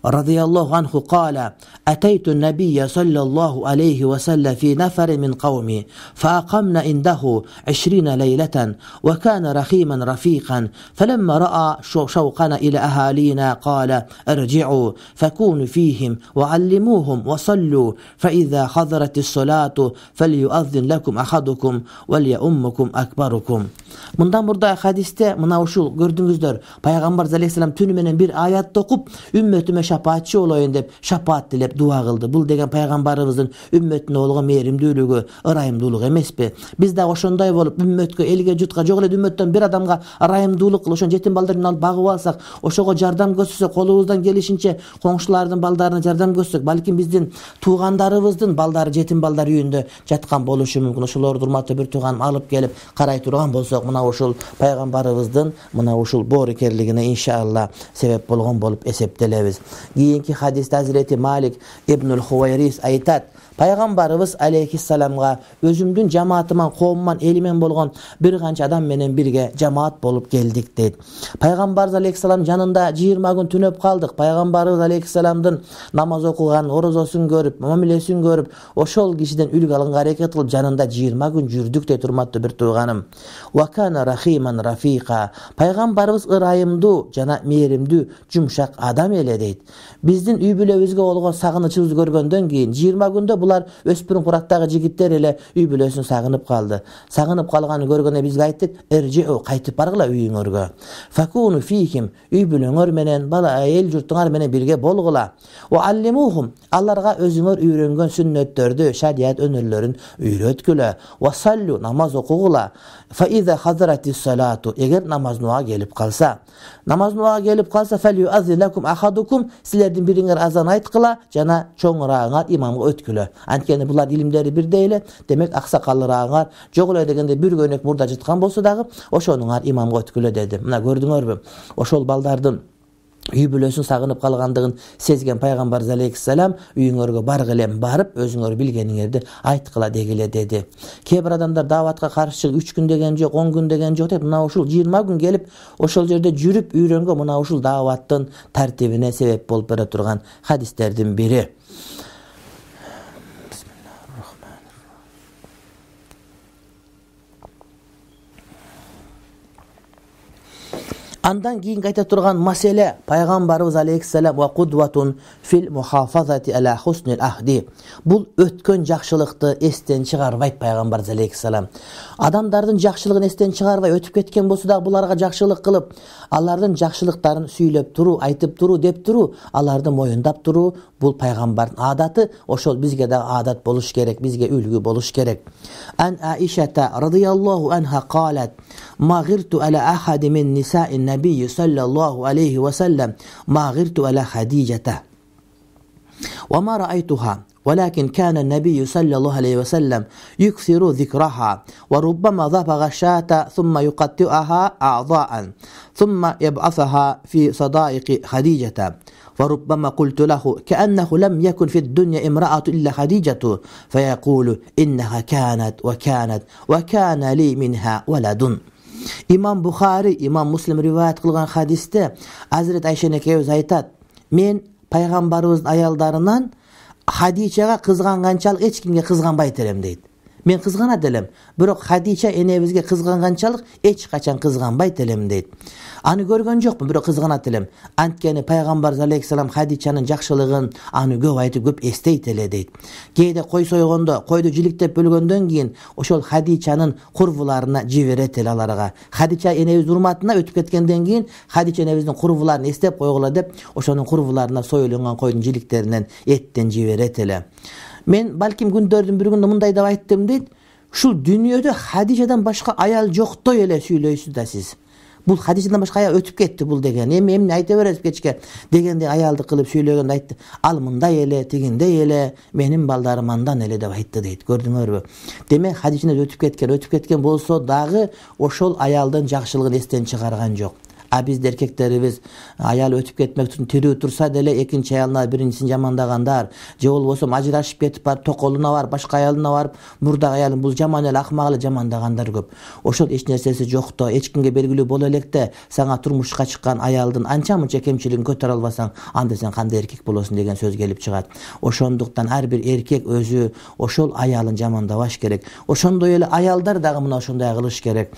radıyallahu anhu qala ataytu nabiyya sallallahu alayhi ve sellem fi nafar min qawmi faqamna indahu 20 leylatan ve kana rahiman rafiqan falamma ra'a shawqana ila ahalina qala irji'u fakunu fihim ve allimuhum ve sallu fa iza hadaratis salatu falyu'adhdhin lakum ahadukum ve liyummukum akbarukum. Мындан мурда хадисте мына ушул көрдүңүздөр, пайгамбар алейхисалам түнү менен бир аятты окуп, үммөтүмө шапаатчы болоюн деп шапаат тилеп дуа кылды. Бул деген пайгамбарыбыздын үммөтүнө болгон мээримдүүлүгү, ырайымдуулугу эмеспи? Биз да ошондой болуп, үммөткө, элге, журтка, жок эле үммөттөн бир адамга ырайымдуулук кылып, ошон жетим балдарын алып багып алсак, ошого жардам көрсөтсөк, колубуздан келишинче коңшулардын балдарына жардам көрсөтсөк, балким биздин туугандарыбыздын балдары жетим балдар үйүндө жаткан болушу мүмкүн. Ошолорду урматтуу бир тууганым алып келип карай турган болсок, мына ушул пайгамбарыбыздын мына ушул боорукерлигине иншалла себеп болгон болуп эсептелебиз. Кийинки хадисте Азирети Малик ибнул Хувайрис айтат: пайгамбарыбыз алейхиссаламга өзүмдүн жамаатыман, коомуман, элимен болгон бир канча адам менен бирге жамаат болуп келдик дейт. Пайгамбарыбыз алейхиссалам жанында 20 күн түнөп калдык. Пайгамбарыбыз алейхиссаламдын намаз окуган, орозосун көрүп, мамилесин көрүп, ошол кишиден үлгү алганга аракет кылып жанында 20 күн жүрдүк дейт, урматтуу бир тууганым. Ва кана рахиман рафика. Пайгамбарыбыз ырайымдуу жана мээримдүү, жумшак адам эле дейт. Биздин үй бүлөбүзгө болгон сагынычыбызды көргөндөн кийин 20 күндө булар өспүрүм курактагы жигиттер эле үй бүлөсүн сагынып калды. Сагынып калганын көргөндө бизге айттык: "Эржеу, кайтып баргыла үйүңөргө. Факуну фихим, үй бүлөңөр менен, бала эл журтуңар менен бирге болгула. Ва аллимухум, аларга өзүңөр үйрөнгөн сүннөттөрдү, шарият өнөрлөрүн үйрөткүлө. Ва саллу, намаз окугула. Фа иза хазратис салату, эгер намаз нуага келип калса, фалюазилакум ахадукум, силердин бириңер азан айткыла жана чоңураагыңар имамга өткүлө. Анткени булар илимдери бирдей эле, демек аксакалыраагыңар жок эле дегенде бир көйнөк мурда жыткан болсо дагы ошонуңар имамга өткүлө деди. Мына көрдүңөрбү? Ошол балдардын үй бүлөсүн сагынып калгандыгын сезген пайгамбар алейхиссалам үйүңөргө баргылем, барып өзүңөр билгениңерди айткыла дегиле деди. Кээ бир адамдар дааватка каршы 3 күн деген жок, 10 күн деген жок деп, мына ушул 20 күн келип ошол жерде жүрүп үйрөнгөн мына ушул дааваттын тартибине себеп болуп бере турган хадистердин бири. Андан кийин айта турган маселе пайгамбарыбыз алейхиссалам ва кудватун фил мухафазати ала хуснил ахди. Бул өткөн жакшылыкты эстен чыгарбайт пайгамбар алейхиссалам. Адамдардын жакшылыгын эстен чыгарбай өтүп кеткен болсо дагы буларга жакшылык кылып, алардын жакшылыктарын сүйлөп туруу, айтып туруу, деп туруу, аларды моюндап туруу бул пайгамбардын адаты. Ошол бизге да адат болуш керек, бизге үлгү болуш керек. Ан Аишата радияллаху анха калат: "Ма гирту ала ахади мин нисаин набийи саллаллаху алейхи ва саллам, ма гирту ала Хадижата. Ва ма раайтуха. ولكن كان النبي صلى الله عليه وسلم يكثر ذكرها وربما ذبح الشاة ثم يقطعها أعضاء ثم يبعثها في صدائق خديجة وربما قلت له كأنه لم يكن في الدنيا امرأة إلا خديجة فيقول إنها كانت وكان لي منها ولد." İmam Bukhari, İmam Muslim rivayet kılgan hadiste Hazret Ayşe ekebиз айтат: "Мен пайгамбарыбыздын аялдарынан Хадичага кызганганчалык эч кимге кызганбайт элем" дейт. Мен кызганат элем, бирок Хадича энебизге кызганганчалык эч качан кызганбайт элем дейт. Аны көргөн жокмун, бирок кызганат элем. Анткени пайгамбар алейхиссалам Хадичанын жакшылыгын аны көп айтып, көп эстейт эле дейт. Кээде кой сойгондо, койду жиликтеп бөлгөндөн кийин ошол Хадичанын курбуларына жиберет эле аларга. Хадича энебиздин урматына өтүп кеткенден кийин Хадича энебиздин курбуларын эстеп койгула деп, ошонун курбуларына союлган койдун жиликтеринен эттен жиберет эле. Мен балким күндөрдүн бир күнүндө мындай деп айттым дейт: "Ушул дүйнөдө Хадичадан башка аял жоктой эле сүйлөйсүз да сиз. Бул Хадичадан башка аял өтүп кетти бул деген. Эмне айта бересиз кечке?" дегенде аялды кылып сүйлөгөндө айтты: "Ал мындай эле, тигиндей эле, менин балдарым андан эле" деп айтты дейт. Көрдүңөрбү? Демек Хадичадан өтүп кеткен болсо дагы ошол аялдын жакшылыгын эстен чыгарган жок. А биз эркектерибиз аял өтүп кетмек үчүн тирүү турса деле экинчи аялына биринчисин жамандагандар, же болбосо ажырашып кетип барып токолуна барып, башка аялына барып, мурдагы аялын бул жаман эле, акмак эле жамандагандар көп. Ошол эч нерсеси жокто, эч кимге белгилүү боло электе, сага турмушка чыккан аялдын анча-мынча кемчилигин көтөрө албасаң, анда сен кандай эркек болосуң деген сөз келип чыгат. Ошондуктан ар бир эркек өзү ошол аялын жамандабаш керек. Ошондой эле аялдар дагы мына ошондой кылыш керек.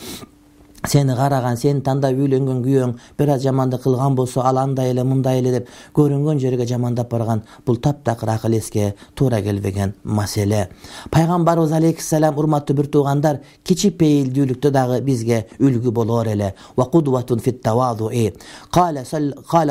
сени караган, сени тандап үйлөнгөн күйөөң бир аз жамандык кылган болсо, ал андай эле мындай эле деп көрүнгөн жерге жамандап барган, бул таптакыр акыл эске туура келбеген маселе. Пайгамбарыбыз алейхиссалам, урматтуу бир туугандар, кичипейилдүүлүктө дагы бизге үлгү болор эле. Ва кудватун фит тавадуи. Кала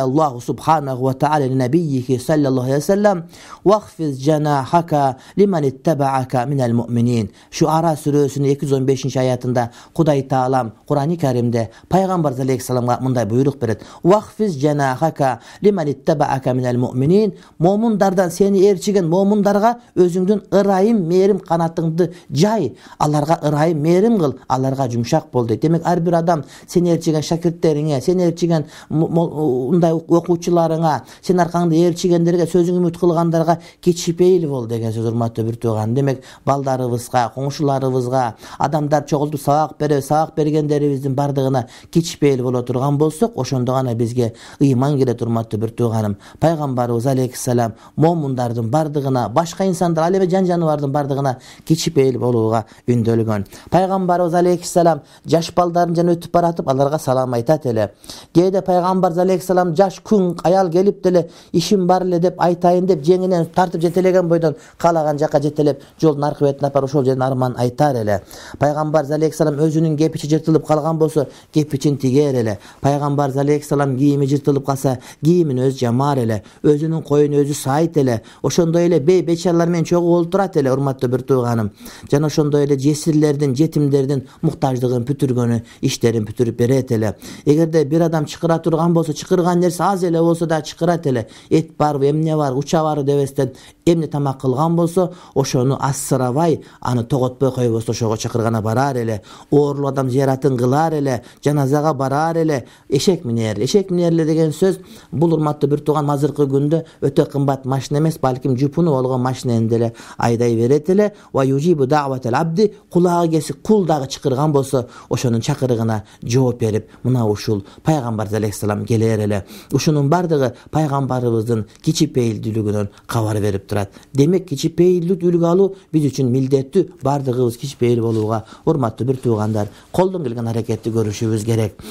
Аллаху субханаху ва та'ала ли набийихи саллаллаху алейхи ва саллам: "Вахфиз жанахака лиман иттабаака минал муъминин." Шуара сүрөсүнүн 215-аятында Кудай Таалам Кур'ани Каримде пайгамбар алейхиссаламга мындай буйрук берет: "Вахфиз жанахака лиман иттабаака минал муъминин." Момундардан сени ээрчиген момундарга өзүңдүн ырайым, мээрим канатыңды жай, аларга ырайым, мээрим кыл, аларга жумшак бол дейт. Демек ар бир адам сени ээрчиген шакирттериңе, сени ээрчиген мындай окуучуларыңа, сен аркаңда ээрчигендерге, сөзүң үмүт кылгандарга кичипейил бол деген сөз, урматтуу бир тууган. Демек балдарыбызга, коңшуларыбызга, адамдар чогултуп сабак берип, сабак бергендерибиздин бардыгына кичипейил боло турган болсок, ошондо гана бизге ыйман келет, урматтуу бир тууганым. Пайгамбарыбыз алейхиссалам момундардын бардыгына, башка инсандар, ал эми жан жаныбардын бардыгына кичипейил болууга үндөлгөн. Пайгамбарыбыз алейхиссалам жаш балдарын жана өтүп баратып, аларга салам айтат эле. Кээде пайгамбар алейхиссалам жаш күн аял келип деле, ишим бар эле деп айтайын деп жеңинен тартып жетелеген бойдон каалаган жака жетелеп, жолдун аркы бетине апарып ошол жерден арман айтар эле. Пайгамбар алейхиссалам өзүнүн кепичи жыртылып калган болсо, кепичин тигер эле. Пайгамбар алейхиссалам кийими жыртылып калса, кийимин өзү жамар эле, өзүнүн коюн өзү сайт эле. Ошондой эле бей-бечаралар менен чогуу олтурат эле, урматтуу бир тууганым. Жана ошондой эле жесирлердин, жетимдердин муктаждыгын бүтүргөнү, иштерин бүтүрүп берет эле. Эгерде бир адам чакыра турган болсо, чакырган нерсе аз эле болсо да чакырат эле. Эт барбы, эмне бар, уча бар дебестен эмне тамак кылган болсо, ошону ассырабай, аны тоготпой койбостон ошого чакыргана барар эле. Оорлуу адам зыяратын кылар эле, жаназага барар эле. Эшек минерлер деген сөз, бул урматтуу бир тууган азыркы күндө өтө кымбат машина эмес, балким жупуну болгон машинени деле айдай берет эле. Ва южибу да'ватал абди, кулагы кесип кул дагы чакырган болсо, ошонун чакырыгына жооп берип, мына ушул пайгамбар алейхиссалам келер эле. Ушунун бардыгы пайгамбарыбыздын кичипейилдүүлүгүнөн кабар берип турат. Демек кичипейилдүү үлгү алуу биз үчүн милдеттүү, бардыгыбыз кичипейил болууга, урматтуу бир туугандар, колдон келген аракетти көрүшүбүз керек.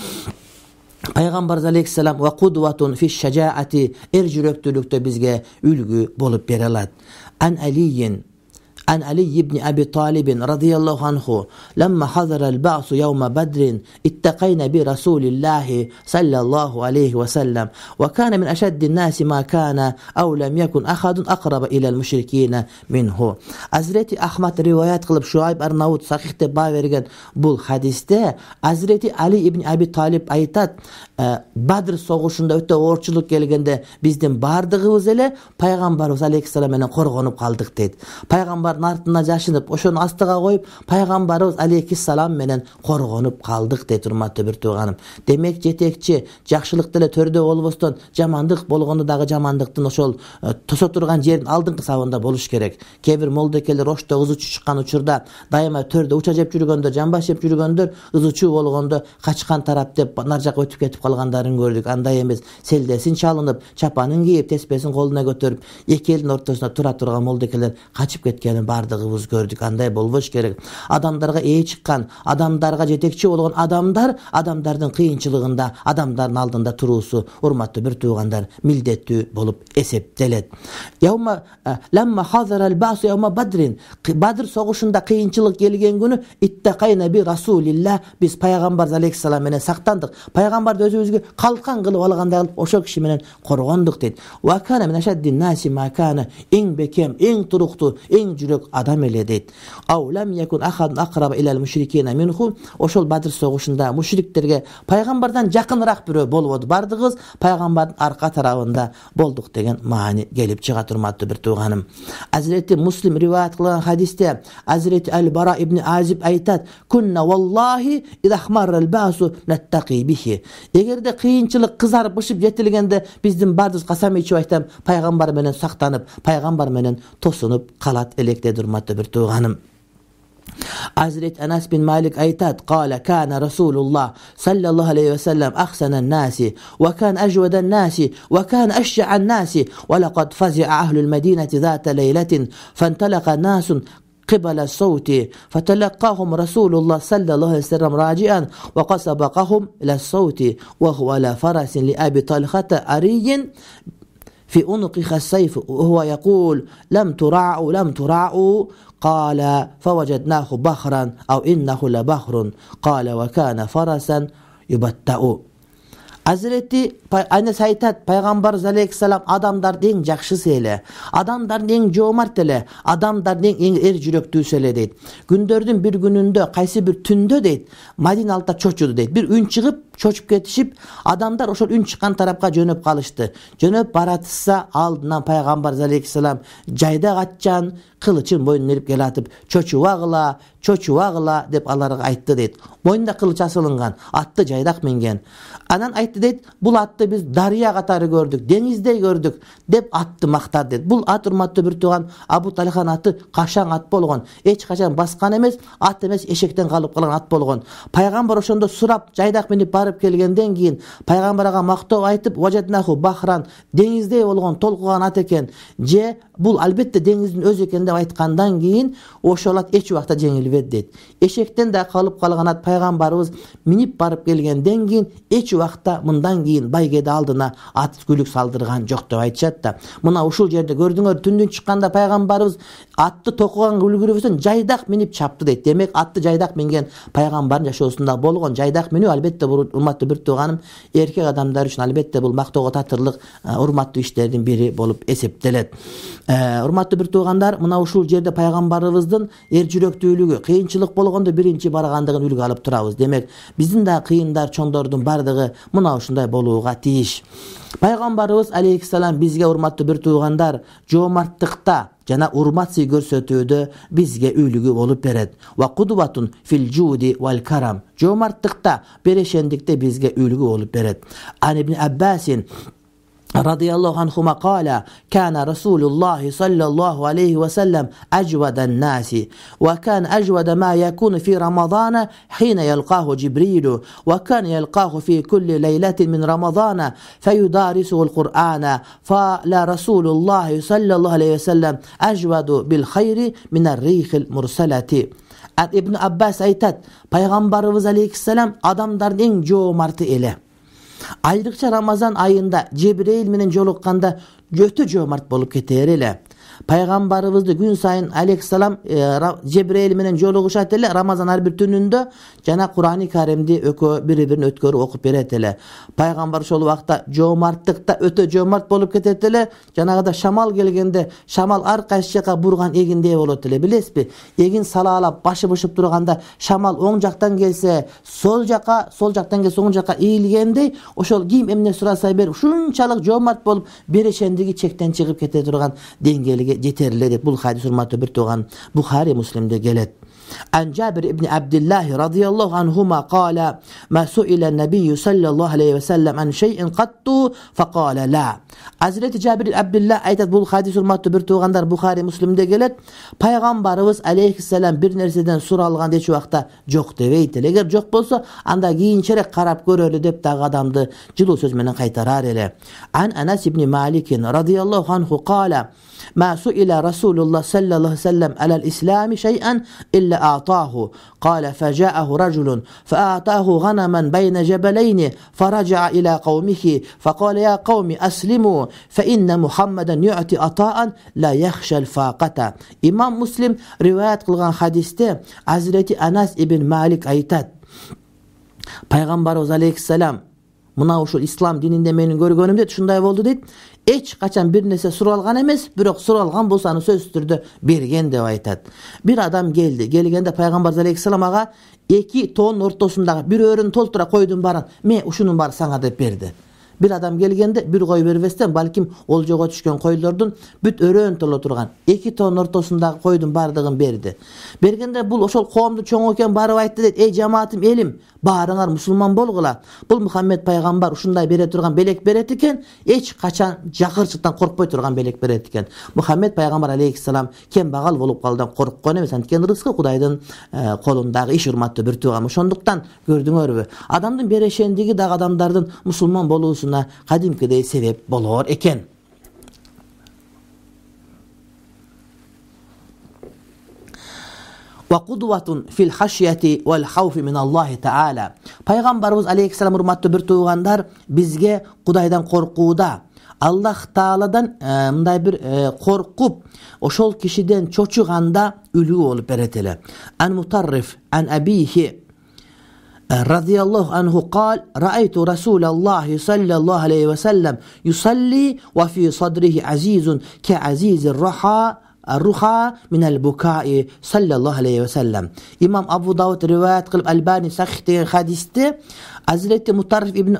Пайгамбар алейхиссалам ва кудватун фиш шажаати, эр жүрөктүүлүктө бизге үлгү болуп бере алат. عن علي بن أبي طالب رضي الله عنه لما حضر البعث يوم بدر اتقينا برسول الله صلى الله عليه وسلم وكان من أشد الناس ما كان أو لم يكن أحد أقرب إلى المشركين منه. Hazreti Ahmad rivayet kılıp Şuayb Arnavut sahihte bağ vergen bul hadiste Hazreti Ali ibn Abi Talib aytat, Badr soğuşunda öte orçuluk gelgende bizdin bardığımız ele Peygamberimiz aleyhisselam menen korgonup kaldık deydi. Peygamberin артына жашынып, ошону астыга коюп, пайгамбарыбыз алейхиссалам менен коргонуп калдык дейт, урматтуу бир тууганым. Демек жетекчи жакшылык деле төрдө болбостон, жамандык болгондо дагы жамандыктын ошол тосо турган жердин алдыңкы сабында болуш керек. Кээ бир молдокелер ошто ызычуу чыккан учурда дайыма төрдө уча жеп жүргөндөр, жамбаш жеп жүргөндөр, ызычуу болгондо качкан тарап деп нар жака өтүп кетип калгандарын көрдүк. Андай эмес, селдесин чалынып, чапанын кийип, теспесин колуна көтөрүп, эки элдин ортосунда тура турган молдокелер качып кеткенин бардыгыбыз көрдүк. Андай болбош керек. Адамдарга ээ чыккан, адамдарга жетекчи болгон адамдардын кыйынчылыгында, адамдардын алдында туруусу, урматтуу бир туугандар, милдеттүү болуп эсептелет. Lamma hazara'l ba'su yawma badrin, Badr согушунда кыйынчылык келген күнү иттакайна би расулилlah, биз пайгамбар алейхиссалам менен сактандык. Пайгамбарды өзүбүзгө калкан кылып алгандай кылып ошол киши менен коргондук дейт. Ва кана мин ашаддин наси ма кана, эң бекем, эң туруктуу, эң жүрөк адам эле дейт. Ау лам якун ахад aqraba ila al-mushrikina minhu, ошол Бадр согушунда мушриктерге пайгамбардан жакыныраак бирөө болбоду. Бардыгыбыз пайгамбардын арка тарабында болдук деген маани келип чыга, урматтуу бир тууганым. Hazreti Muslim rivayet kılan hadiste Hazreti Al-Bara ibn Azib aytat, kunna wallahi idahmarra'l ba'su nattaqi bihi. Egerde kıyınçılık kızarıp ışıp jetilgende bizdin bardız kasam içip aytam, paygambar menen saktanıp, paygambar menen tosunup kalat elekte, urmatlı bir tuğanım. Hazreti Enes bin Malik aytat, qala kana Rasulullah sallallahu aleyhi ve sellem ahsanan nasi ve kan ajwadan nasi ve kan ashja'an nasi ve laqad fazi'a ahlul medineti zata leyletin fantalaqa nasun قبل الصوت فتلقاهم رسول الله صلى الله عليه وسلم راجعا وقد سبقهم إلى الصوت وهو على فرس لأبي طلحة عري في عنقه السيف وهو يقول لم ترعوا قال فوجدناه بحرا أو إنه لبحر قال وكان فرسا يبتأ. Hazreti Anas aytat, Peygamberimiz aleyhisselam adamdardın en jakşısı ele, adamdardın en jomart ele, adamdardın en er jüröktүүsü ele deyt. Gündördün bir gününde, kayсы bir түндө deyt, Madina altta çoçudu deyt. Bir ün çıkıp, çoçup ketişip, adamlar oşol ün çıkan tarafka jönöp kalıştı. Jönöp baratsa aldından Peygamberimiz aleyhisselam jayda katcan, kılıçın boynuna erip gel atıp, çoçuvagla dep alarga aytты deyt. Boynunda kılıç asılıngan, attı jaydak mengen. Anan aytты deyt, bul atты biz darya katары gördük, denizde gördük dep attı maktar deyt. Bul at urmatlı bir tuğan Abu Talhan atı kaşan at bolgon. Eç kaşan baskan emez, at emez eşekten kalıp kalan at bolgon. Peygamber oşonda surap jaydak menip barıp kelgenden keyin Peygamberga maktoo aytıp vajadnahu bahran denizde bolgon tolkugan at eken. Je bul albatta denizin öz eken dep aytkandan keyin oşol at eç wagtda jеңилбedi deyt. Eşekten de kalıp kalgan at Peygamberimiz minip barıp kelgenden keyin eç wagtda mından keyin baygede aldına at gülük saldırgan jok dep aytышат da. Mına ушул жерде gördüңөр түндүн чыкканда Peygamberimiz atты токуган үлгүрүбөсүн жайдак минип чапты дейт. Демек атты жайдак минген Peygamberдин жашоосунда болгон. Жайдак менүү албетте бул урматтуу бир тууганым эркек адамдар үчүн албетте бул мактоого татырлык урматтуу иштердин бири болуп эсептелет. Урматтуу бир туугандар, мына ушул жерде Peygamberimiздин эр жүрөктүүлүгү, кыйынчылык болгондо биринчи баргандыгын үлгү алып турабыз. Демек биздин да кыйындар, чоңдордун бардыгы мына ушундай болууга тийиш. Peygamberimiz aleyhisselam bizge urmatlı bir tuğandar jomartlıkta jana urmat sый көрсөтүүдө bizge үлгү болуp берет. Wa qudwatun fil judi wal karam. Jomartlıkta, bereşendikte bizge үлгү болуp берет. An ibn Abbasin رضي الله عنهما قال كان رسول الله صلى الله عليه وسلم أجود الناس وكان أجود ما يكون في رمضان حين يلقاه جبريل وكان يلقاه في كل ليلة من رمضان فيدارسه القرآن فلا رسول الله صلى الله عليه وسلم أجود بالخير من الريح المرسلة. İbn Abbas aytat, Peygamberimiz aleyhisselam adamların en jomartı ele. Ayrıkça Ramazan ayında Cebrail menen jolukanda götü jomart bolup keter ele. Peygamberimizde gün sayın aleyhisselam Cebrail menen joluguşat ele. Ramazan her bir tününde jana Kur'an-ı Kerim'de biri-birini ötkörü okup beret ele. Peygamber şol vaqta jomartlıkta öte jomart bolup ketet ele. Janagıda şamal gelgende şamal arkaysı jaka burgan eginde bolot ele. Bilesizbi? Egin salalap başı bışıp durganda şamal oң jaktan gelse sol jaktan gelse oң jaka eğilgende oşol kim emne surasa ber şunçalık jomart bolup bereşendigi çekten çıkıp kete durgan dengeli yeterli. Bu hadis urmatlı bir tuğan Bukhari Müslim'de gelet. An Cabir ibn Abdullah radıyallahu anhuma qala ma su'ila an-nabiy sallallahu aleyhi ve sellem an şey'in qattu faqala la. Hazreti Cabir ibn Abdullah aytat, bu hadis urmatlı bir tuğanlar Bukhari Müslim'de gelet. Peygamberimiz aleyhisselam bir nerseden suralgan deçi vaqta jok debeyt. Eger jok bolsa anda kийинчерээк karap görölü dep dagı adamdı жылуу söz menen kaytarar ele. An Anas ibn Malik radıyallahu anhu qala ما سئل رسول الله صلى الله عليه وسلم على الإسلام شيئا إلا أعطاه قال فجاءه رجل فأعطاه غنما بين جبلين فرجع إلى قومه فقال يا قوم أسلموا فإن محمدا يعطي عطاء لا يخشى الفاقة. İmam Müslim rivayet kılgan hadiste Hazreti Anas ibn Malik aytat, Peygamberimiz aleyhisselam mına uşul İslam dininde menin görgönümde şunday boldu deyt. Eç kaçan bir nese suralgan emes, birok suralgan bolsany söz türdü bergen dep aytat. Bir adam geldi. Gelgende Peygamber aleyhisselam aga 2 ton ortasındağı bir örün toltura koydum baran. Me uşunun bar sana dep berdi. Bir adam gelgende bir koy berbesten balkim oljogo düşkön koylardın büt örön tola turgan 2 ton ortasındağı koydum bardığın berdi. Bergende bul oşol koomdu çoң eken barıp aytты deyt, ey cemaatim elim, barыңar musulman bolgula. Bul Muhammed Peygamber uşunday bere turgan belek beret eken, eç kaçan jakırçıktan korkpoy turgan belek beret eken. Muhammed Peygamber aleyhisselam kembagal bolup kaldan korkkan emes, antkeni rızkı Kudayдын kolundağı iş urmatlı bir tuğam. Şonduktan gördüңөрбү? Adamdın bereşendigi dağ adamdardın musulman boluusuna kadimkidey sebep bolor eken. وقدوة في الخشية والخوف من الله تعالى. Пайгамбарыбыз алейхиссалам урматтуу бир туугандар бизге Кудайдан коркууда, Аллах Тааладан мындай бир коркуп, ошол кишиден чочуганда үлгү болуп берет эле. Ан Мутарриф ан абихи радияллаху анху قال رأيت رسول الله صلى الله عليه وسلم يصلي وفي صدره عزيز كعزيز الرخاء من البكاء صلى الله عليه وسلم. İmam Abu Davud rivayet kılıp Albani sahih деген hadiste Hazreti Mutarrif ibn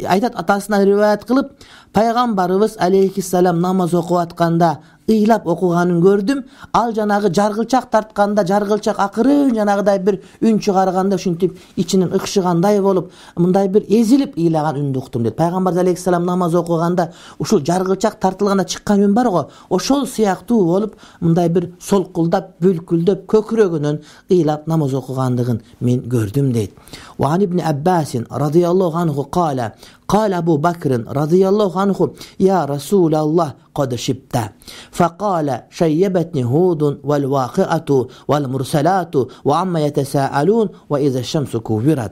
aytat atasından rivayet kılıp Пайгамбарыбыз алейхиссалам намаз окуп атканда ыйлап окуганын көрдүм. Ал жанагы жаргылчак тартканда, жаргылчак акырын жанагыдай бир үн чыгарганда ушинтип ичинен ыкшыгандай болуп, мындай бир эзилип ыйлаган үндү уктум дейт. Пайгамбар алейхиссалам намаз окуганда ушул жаргылчак тартылганда чыккан үн бар го, ошол сыяктуу болуп, мындай бир солкулдап, бүлкүлдөп, көкүрөгүнөн ыйлап намаз окугандыгын мен көрдүм дейт. Wa an ibn Abbas radiyallahu anhu qala قال أبو بكر رضي الله عنه يا رسول الله قد شبت فقال شيبتني هود والواقعة والمرسلات وعما يتساءلون وإذا الشمس كورت.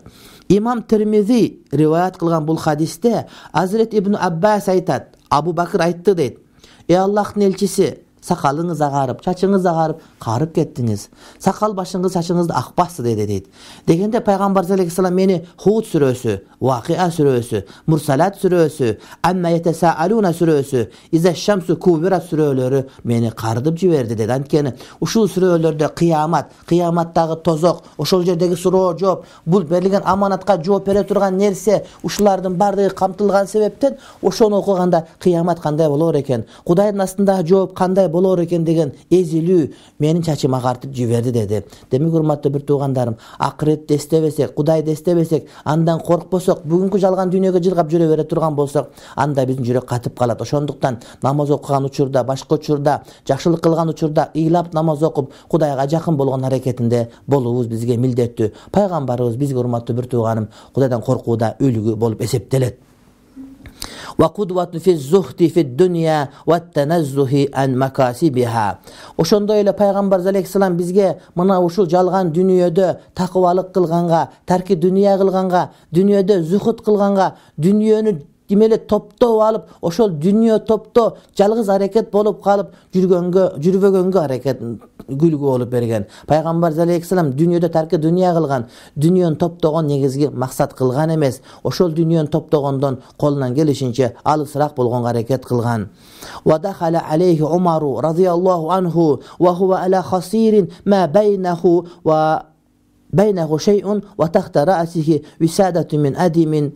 İmam Tirmizi rivayet kılgan bu hadiste Hazret İbn Abbas aytat, Abu Bakr aytты deyt. Ey Allah'ın elçisi, sakalыңыз агарып, чачыңыз агарып, карып кеттиңиз. Сакал башыңыз, чачыңызды акпасы дейт. Дегенде Пайгамбар алейхиссалам мени Худ сүрөсү, Вакиа сүрөсү, Мурсалат сүрөсү, Амма Ятасаалуна сүрөсү, Иза Шамсу Кубират сүрөлөрү мени кардып жиберди дейт. Анткени ушул сүрөлөрдө кыяматтагы тозок, ошол жердеги суроо жооп, бул берилген аманатка жооп бере турган нерсе, ушулардын бардыгы камтылган себептен ошону окуганда кыямат кандай болор экен, Кудайдын астындагы жооп кандай болор экен деген эзилүү менин чачыма картып жиберди деди. Демек урматтуу бир туугандарым, акыретти эстебесек, Кудайды эстебесек, андан коркпосок, бүгүнкү жалган дүйнөгө жыргап жүрө бере турган болсок, анда биздин жүрөк катып калат. Ошондуктан намаз окуган учурда, башка учурда, жакшылык кылган учурда ыйлап намаз окуп, Кудайга жакын болгон аракетинде болуубуз бизге милдеттүү. Пайгамбарыбыз бизге урматтуу бир тууганым Кудайдан коркууда үлгү болуп эсептелет. وقدوة في الزهد في الدنيا والتنزه عن مكاسبها. Ошондой эле Пайгамбар алейхиссалам бизге мына ушул жалган дүйнөдө такыбалык кылганга, тарки дүйнө кылганга, дүйнөдө зухут кылганга, дүйнөнү демеле топтоп алып, ошол дүйнө топто жалгыз аракет болуп калып жүрбөгөнгө аракет күлгү болуп берген. Пайгамбар алейхиссалам дүйнөдө тарки дүйнө кылган, дүйнөнү топтогон негизги максат кылган эмес, ошол дүйнөнү топтогондон колунан келишинче алысыраак болгонго аракет кылган. Wa dakhala alayhi Umar radiyallahu anhu wa huwa ala khasirin ma baynahu shay'un wa tahta ra'sihi wisadatu min adimin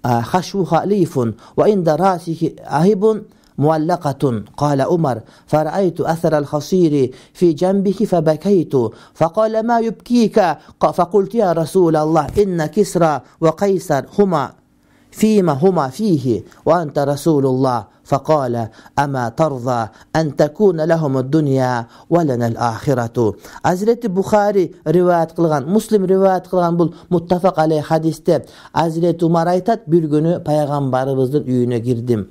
خشوها ليف وعند راسه أهب معلقة. قال عمر فرأيت أثر الخصير في جنبه فبكيت فقال ما يبكيك؟ فقلت يا رسول الله إن كسرى وقيصر هما فيه وأنت رسول الله. فقال أما ترضى أن تكون لهم الدنيا ولنا الآخرة. Hazreti Bukhari rivayet kılgan, Muslim rivayet kılgan bu muttafak aleyh hadiste Hazreti Umar aytat, bir günü Peygamberimizin üyüne girdim.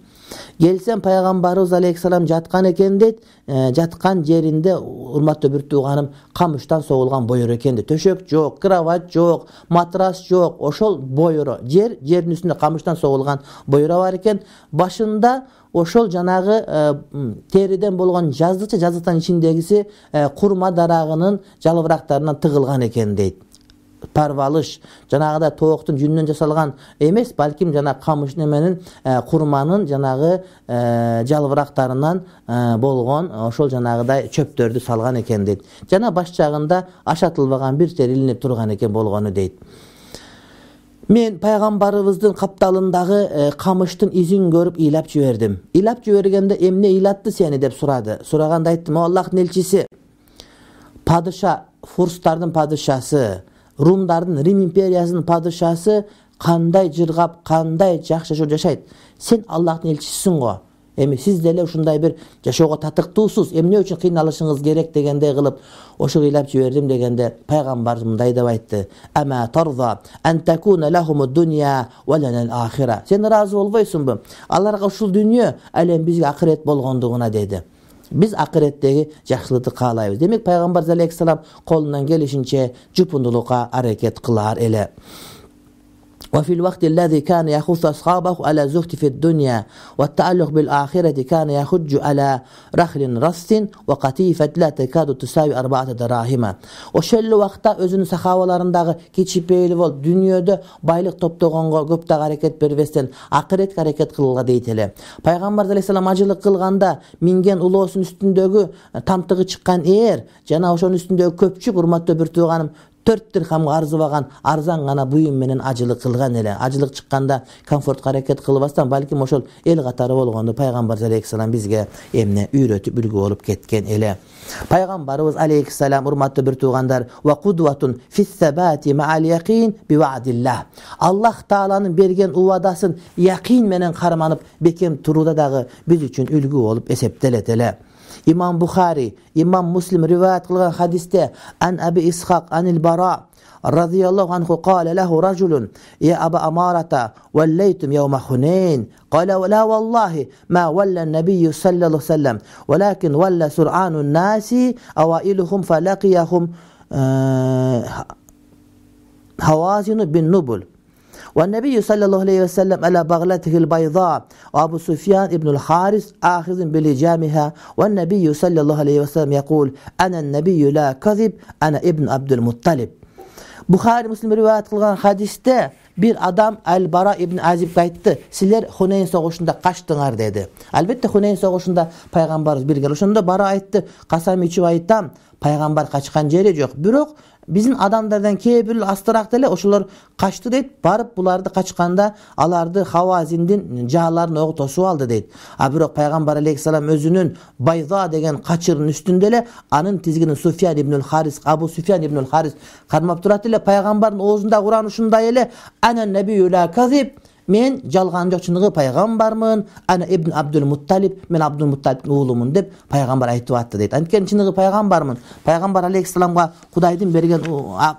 Gelsem Пайгамбарыбыз алейхиссалам жаткан экен дейт. Жаткан жеринде урматтуу бир тууганым камыштан согулган бойор экен дейт. Төшөк жок, кровать жок, матрас жок, ошол бойоро жердин үстүндө камыштан согулган бойоро бар экен. Башында ошол жанагы териден болгон жаздыктан ичиндегиси курма дарагынын жалбырактарынан тыгылган экен дейт. Парвалыш жанагыда тооктун жүнүнөн жасалган эмес, балким жана камыш неменин курманын жанагы жалбырактарынан болгон ошол жанагыдай чөптөрдү салган экен дейт. Жана баш жагында ашатылбаган бир жер илинип турган экен болгону дейт. Мен Пайгамбарыбыздын капталындагы камыштын изин көрүп ыйлап жибердим. Ыйлап жибергенде эмне ыйлатты сени деп сурады. Сураганда айттым, Аллахтын элчиси, падыша, фурстардын падышасы, Румдардын, Рим империясынын падышасы кандай жыргап, кандай жакшы жашайт. Сен Аллахтын элчисисиң го. Эми сиз деле ушундай бир жашоого татыктуусуз, эмне үчүн кыйналышыңыз керек дегендей кылып, ошо ыйлап жибердим дегенде Пайгамбар мындай деп айтты: "Ама тарза ан такуна лахумуд дунья ва ланал ахира." Сен ыраазы болбойсуңбу? Аларга ушул дүйнө, ал эми бизге акырет болгондугуна деди. Биз акыреттеги жакшылыкты каалайбыз. Демек пайгамбар алейхиссалам колунан келишинче жупундулукка аракет кылар эле. وفي الوقت الذي كان يخص أصحابه على الزهد في الدنيا والتعلق بالآخرة كان يحج على رخل رص وقتيفة لا تكاد تساوي 4 دراهم. Ошол убакта өзүнүн сахабаларындагы кичипейли болуп, дүйнөдө байлык топтогонго көп да аракет бербестен акыретке аракет кылууга дейт эле. Пайгамбар алейхиссалам ажылык кылганда минген улоосунун үстүндөгү тамтыгы чыккан жана ошонун үстүндөгү көпчүк урматтуу бир тууганым 4 дирхамга арзыбаган арзан гана буюм менен ажылык кылган эле. Ажылык чыкканда комфортко аракет кылбастан, балким ошол эл катары болгондо пайгамбар алейхиссалам бизге эмне үйрөтүп үлгү болуп кеткен эле. Пайгамбарыбыз алейхиссалам, урматтуу бир туугандар, ва кудватун фиссабати ма'ал яқин би вa'дилlah. Аллах тааланын берген убадасын якин менен карманып бекем турууда дагы биз үчүн үлгү болуп эсептелет эле. İmam Bukhari, İmam Muslim rivayet kılgan hadiste an Abi İshak anil Bara radıyallahu anhu qala lahu rajulun ya Aba Amarata wallaytum yawma Hunayn qala la wallahi ma walla an-nabiy sallallahu aleyhi ve sellem walakin walla sur'anun nasi awailuhum falaqiyahum hawazin bin nubul. والنبي صلى الله عليه وسلم على بغلته البيضاء وأبو سفيان ابن الحارث آخذ بلجامها والنبي صلى الله عليه وسلم يقول أنا النبي لا كذب أنا ابن عبد المطلب. Bukhari Muslim rivayet kılgan hadiste bir adam Al-Bara ibn Azib'e aytdı. Sizler Hunayn soğuşunda kaçtınlar dedi. Elbette Hunayn soğuşunda Peygamberimiz bir gel. Oşunda Bara aytdı. Kasam içip ayttam. Peygamber kaçkan jeri yok. Bирок биздин адамдардан кээ бир астыраак деле ошолор качты дейт. Барып буларды качканда аларды Хавазиндин жааларын ого тосуп алды дейт. А бирок пайгамбар алейхиссалам өзүнүн Байза деген качырынын үстүндө эле анын тизгинин Суфьян ибн Харис, Абу Суфьян ибн Харис кармап турат эле. Пайгамбардын оозунда Куран ушундай эле ана набию ла казиб, мен жалган жок, чыныгы пайгамбармын, ана ибн Абдул Мутталиб, мен Абдул Мутталибдин уулумун деп пайгамбар айтып атты дейт. Анткени чыныгы пайгамбармын. Пайгамбар алейхиссаламга Кудайдын берген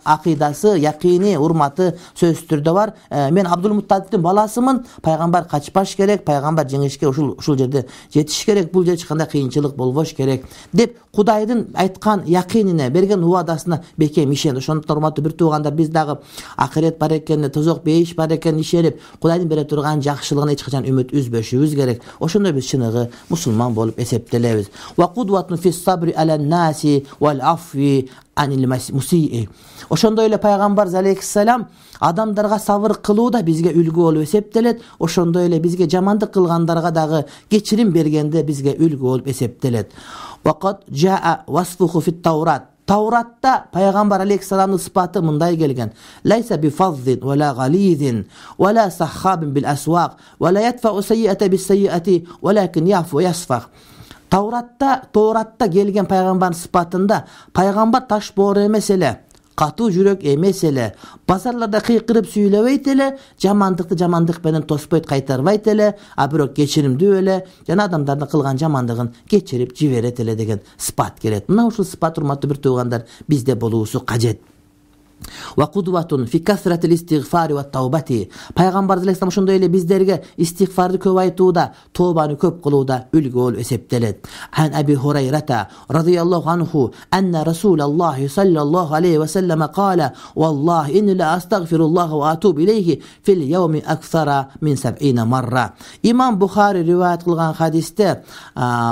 акыйдасы, якини, урматы сөзсүз түрдө бар. Мен Абдул Мутталибдин баласымын. Пайгамбар качпаш керек, пайгамбар жеңишке ушул жерде жетиш керек, бул жерде эч кандай кыйынчылык болбош керек деп Кудайдын айткан якинине, берген убадасына бекем ишенди. Ошондуктан урматтуу бир туугандар, биз дагы акырет бар экенине, тозок бейиш бар экенине ишенип, Кудайдын бере турган жакшылыгына эч качан үмүт үзбөшүбүз керек. Ошондо биз чыныгы мусулман болуп эсептелебиз. Ва кудватун фис сабри алан наси вал афви анил мусии. Ошондой эле пайгамбар алейхиссалам адамдарга сабыр кылуу да бизге үлгү болуп эсептелет. Ошондой эле бизге жамандык кылгандарга дагы кечирим бергенде бизге үлгү болуп эсептелет. Вакат жаа васфуху фит Таурат. Taurat'ta Peygamber Aleyhisselam'ın sıfatı mınday gelgen. Laysa bi fazzin ve la galizin ve la sahhabin bil aswaq ve la yedfa'u seyyi'ete bis seyyi'eti velakin yafu yasfah. Taurat'ta gelgen Peygamber'in sıfatında Peygamber taş boğru emes ele, katı jürek emes ele, bazarlarda kıykırıp süylebeyt ele, jamandык менен тоспойт кайтарбайт эле, а бирок кечиримдүү эле, жана адамдардын кылган жамандыгын кечирип жиберет эле деген сыпат келет. Мына ушул сыпат, урматтуу бир туугандар, бизде болуусу кажет. Wa qudwatun fi kasratil istighfar wa tawbati. Пайгамбар алейхиссалам ошондой эле биздерге истигфарды көп айтууда, тообаны көп кылууда үлгү болуп эсептелет. Ан Аби Хурайрата радıyallahu anhu anna Rasulullah sallallahu aleyhi ve sellem qala wallahi inni la astaghfirullah wa atubu ilayhi fil yawmi akthara min 70 marra. İmam Bukhari rivayet kılgan hadiste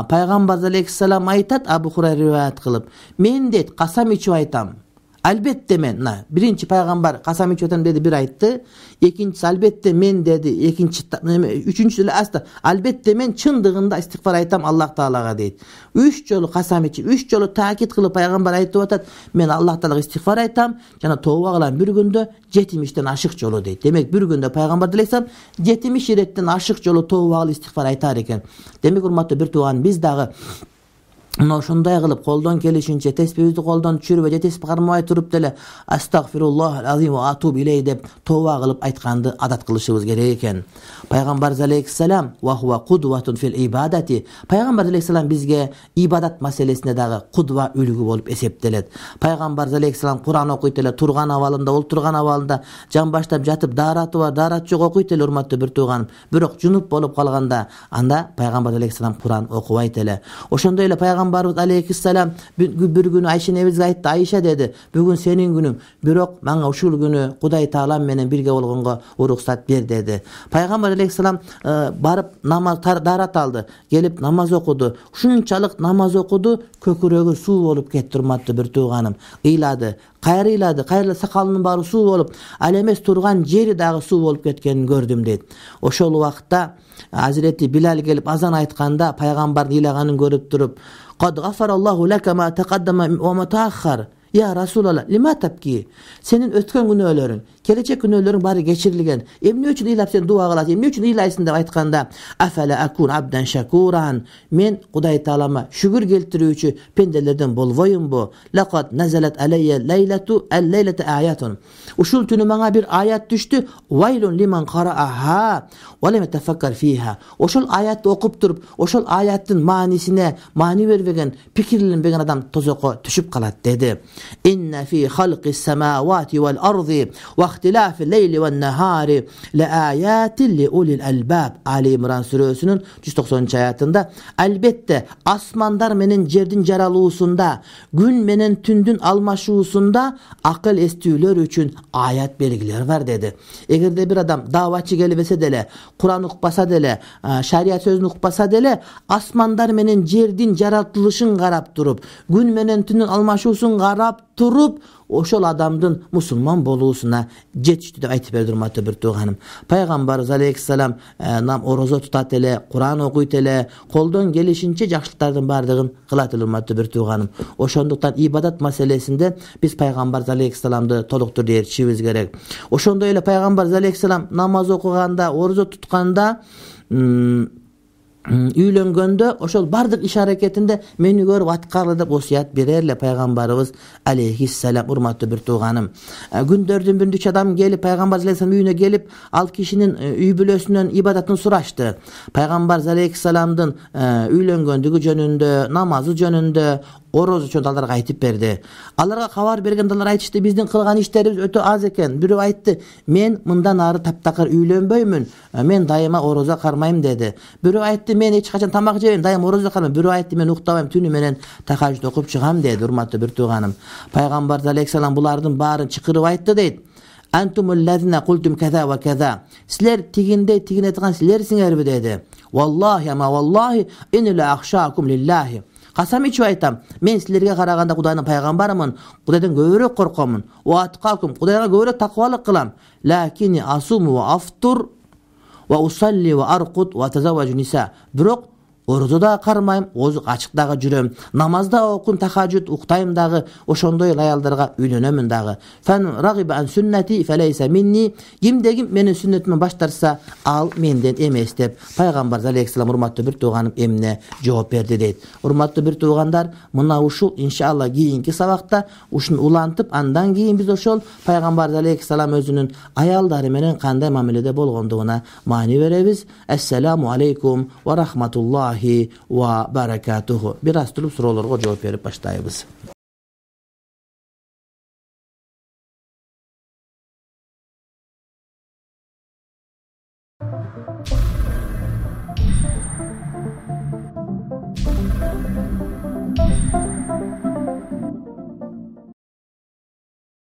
Пайгамбар алейхиссалам айтат, Abu Hurayra rivayet kılıp, men deyt kasam içip aytam. Albatta men, birinchi payg'ambar qasam ichib o'taman dedi, bir aytdi. Ikkinchisi albatta men dedi, üçüncüsü asla albatta men chındig'inda istig'for aytam Alloh taolaga deydi. 3 jolu qasam ichib, 3 jolu ta'kid qilib payg'ambar aytib o'tadi, men Alloh taolaga istig'for aytam, jana tavba qilaman bir kunda 70 aşık jolu deydi. Demek bir kunda payg'ambar alayhisalom 70 retten aşık jolu tavba qilib istig'for aytar ekan. Demek hurmatli bir tuğan, biz dagı Мына ошондой кылып колдон келишинче теспибизди колдон түшүрбөй же теспи кармабай туруп деле астагфируллах азим ва атуб илей деп тооба кылып айтканды адат кылышыбыз керек экен. Пайгамбарыбыз алейхиссалам ва хува кудватун фил ибадати. Пайгамбарыбыз алейхиссалам бизге ибадат маселесинде дагы кудва үлгү болуп эсептелет. Пайгамбарыбыз алейхиссалам Кур'ан окуйт эле, турган абалында, олтурган абалында, жамбаштап жатып, даараты бар, даараты жок окуйт эле урматтуу бир тууганым. Бирок жунуп болуп калганда анда пайгамбарыбыз алейхиссалам Кур'ан окубайт эле. Ошондой эле пайгамбарыбыз алейхиссалам бир күнү Айша энебизге айтты: "Айша" деди, "Бүгүн сенин күнүң, бирок мага ушул күнү Кудай Таалам менен бирге болгонго уруксат бер" деди. Пайгамбар алейхиссалам барып намаз даарат алды, келип намаз окуду. Ушунчалык намаз окуду, көкүрөгү суу болуп кетти урматтуу бир тууганым. Ыйлады, кайрылды, сакалынын баары суу болуп, ал эмес турган жери дагы суу болуп кеткенин көрдүм дейт. Ошол убакта Азирети Билал келип азан айтканда пайгамбардын ыйлаганын көрүп туруп: "Кад гафараллаху лака ма тaqaddama ва ма тааххар. Я Расулалла, лима табки?" Сенин өткөн күнөөлөрүң, келечек күнөөлөрүң баары кечирилген. Эмне үчүн ыйлап сен дуа кыласың? Эмне үчүн ыйлайсың деп айтканда: "Афала акун абдан шакуран." Мен Кудай Таалама шүгүр келтирүүчү пенделерден болбоймбу? Лакад назалат алайя лейлата аятун. Ушул түнү мага бир аят түштү. Вайлун лиман карааха ва лам тафаккар фиха. Ошол аятты окуп туруп, ошол аяттын маанисине маани бербеген, пикирленбеген адам тозокко түшүп калат деди. Инна фи халқис самавати вал арди ва ихтилафил лейли ван нахари ла аятин ли улил албаб. Али Имран сүрөсүнүн 190-аятында албетте асмандар менен жердин жаралуусунда, күн менен түндүн алмашуусунда акыл эстүүлөр үчүн аят белгилер бар деди. Эгерде бир адам даватчы келбесе деле, Кур'ан укпаса деле, шарият сөзүн укпаса деле, асмандар менен жердин жаратылышын карап туруп, күн менен түндүн алмашуусун карап туруп, ошол адамдын мусулман болуусуна жетиштүү деп айтып берди урматтуу бир тууганым. Пайгамбарыбыз алейхиссалам орозо тутат эле, Кур'ан окуйт эле, колдон келишинче жакшылыктардын баардыгын кылат эле урматтуу бир тууганым. Ошондуктан ибадат маселесинде биз пайгамбарыбыз алейхиссаламды толук түрдө ээрчишибиз керек. Ошондой эле пайгамбарыбыз алейхиссалам намаз окуганда, орозо тутканда, үйлөнгөндө ошол бардык иш аракетинде мени көрүп аткаргыла деп осуят берер эле пайгамбарыбыз алейхиссалам урматтуу бир тууганым. Күндөрдүн биринде 3 адам келип пайгамбарыбыз алейхиссалам үйүнө келип, ал кишинин үй бүлөсүнөн ибадатын сурашты. Пайгамбарыбыз алейхиссаламдын үйлөнгөндүгү жөнүндө, намазы жөнүндө, орозу жөнүндө аларга айтып берди. Аларга кабар бергенде алар айтышты: "Биздин кылган иштерибиз өтө аз экен." Бирөө айтты: "Мен мындан ары таптакыр үйлөнбөймүн, мен дайыма орозо кармайм" деди. Бирөө айтты: "Мен эч качан тамак жебейм, дайыма орозо кармайм." Бирөө айтты: "Мен уктабайм, түнү менен тахажжуд окуп чыгам" деди урматтуу бир тууганым. Пайгамбарыбыз алейхиссалам булардын баарын чакырып айтты дейт: "Антумуллазина култум каза ва каза." Силер тигиндей тигине айткан силерсиңерби деди. "Валлахи ама валлахи инна ла ахшаакум лиллахи." Касам ичип айтам, мен силерге караганда Кудайдын пайгамбарымын, Кудайдан көбүрөөк коркомун. Ва аткакум, Кудайга көбүрөөк такыбалык кылам. Лакини асуму ва афтур ва усалли ва аркут ва тазавважу ниса. Бирок орозо да кармайм, ачык дагы жүрөм, намазда окуйм, тахажжуд уктайм дагы, ошондой аялдарга үйлөнөмүн дагы. Фан рагиба ан суннати фалайса минни. Кимде-ким менин сүннөтүмөн баш тартса, ал менден эмес деп пайгамбар алейхиссалам урматтуу бир тууганым эмне жооп берди дейт. Урматтуу бир туугандар, мына ушул иншалла кийинки сабакта ушуну улантып, андан кийин биз ошол пайгамбар алейхиссалам өзүнүн аялдары менен кандай мамиледе болгондугуна маани беребиз. Ассаламу алейкум ва рахматуллахи ва баракатуху. Бир аз туруп суроолорго жооп берип баштайбыз.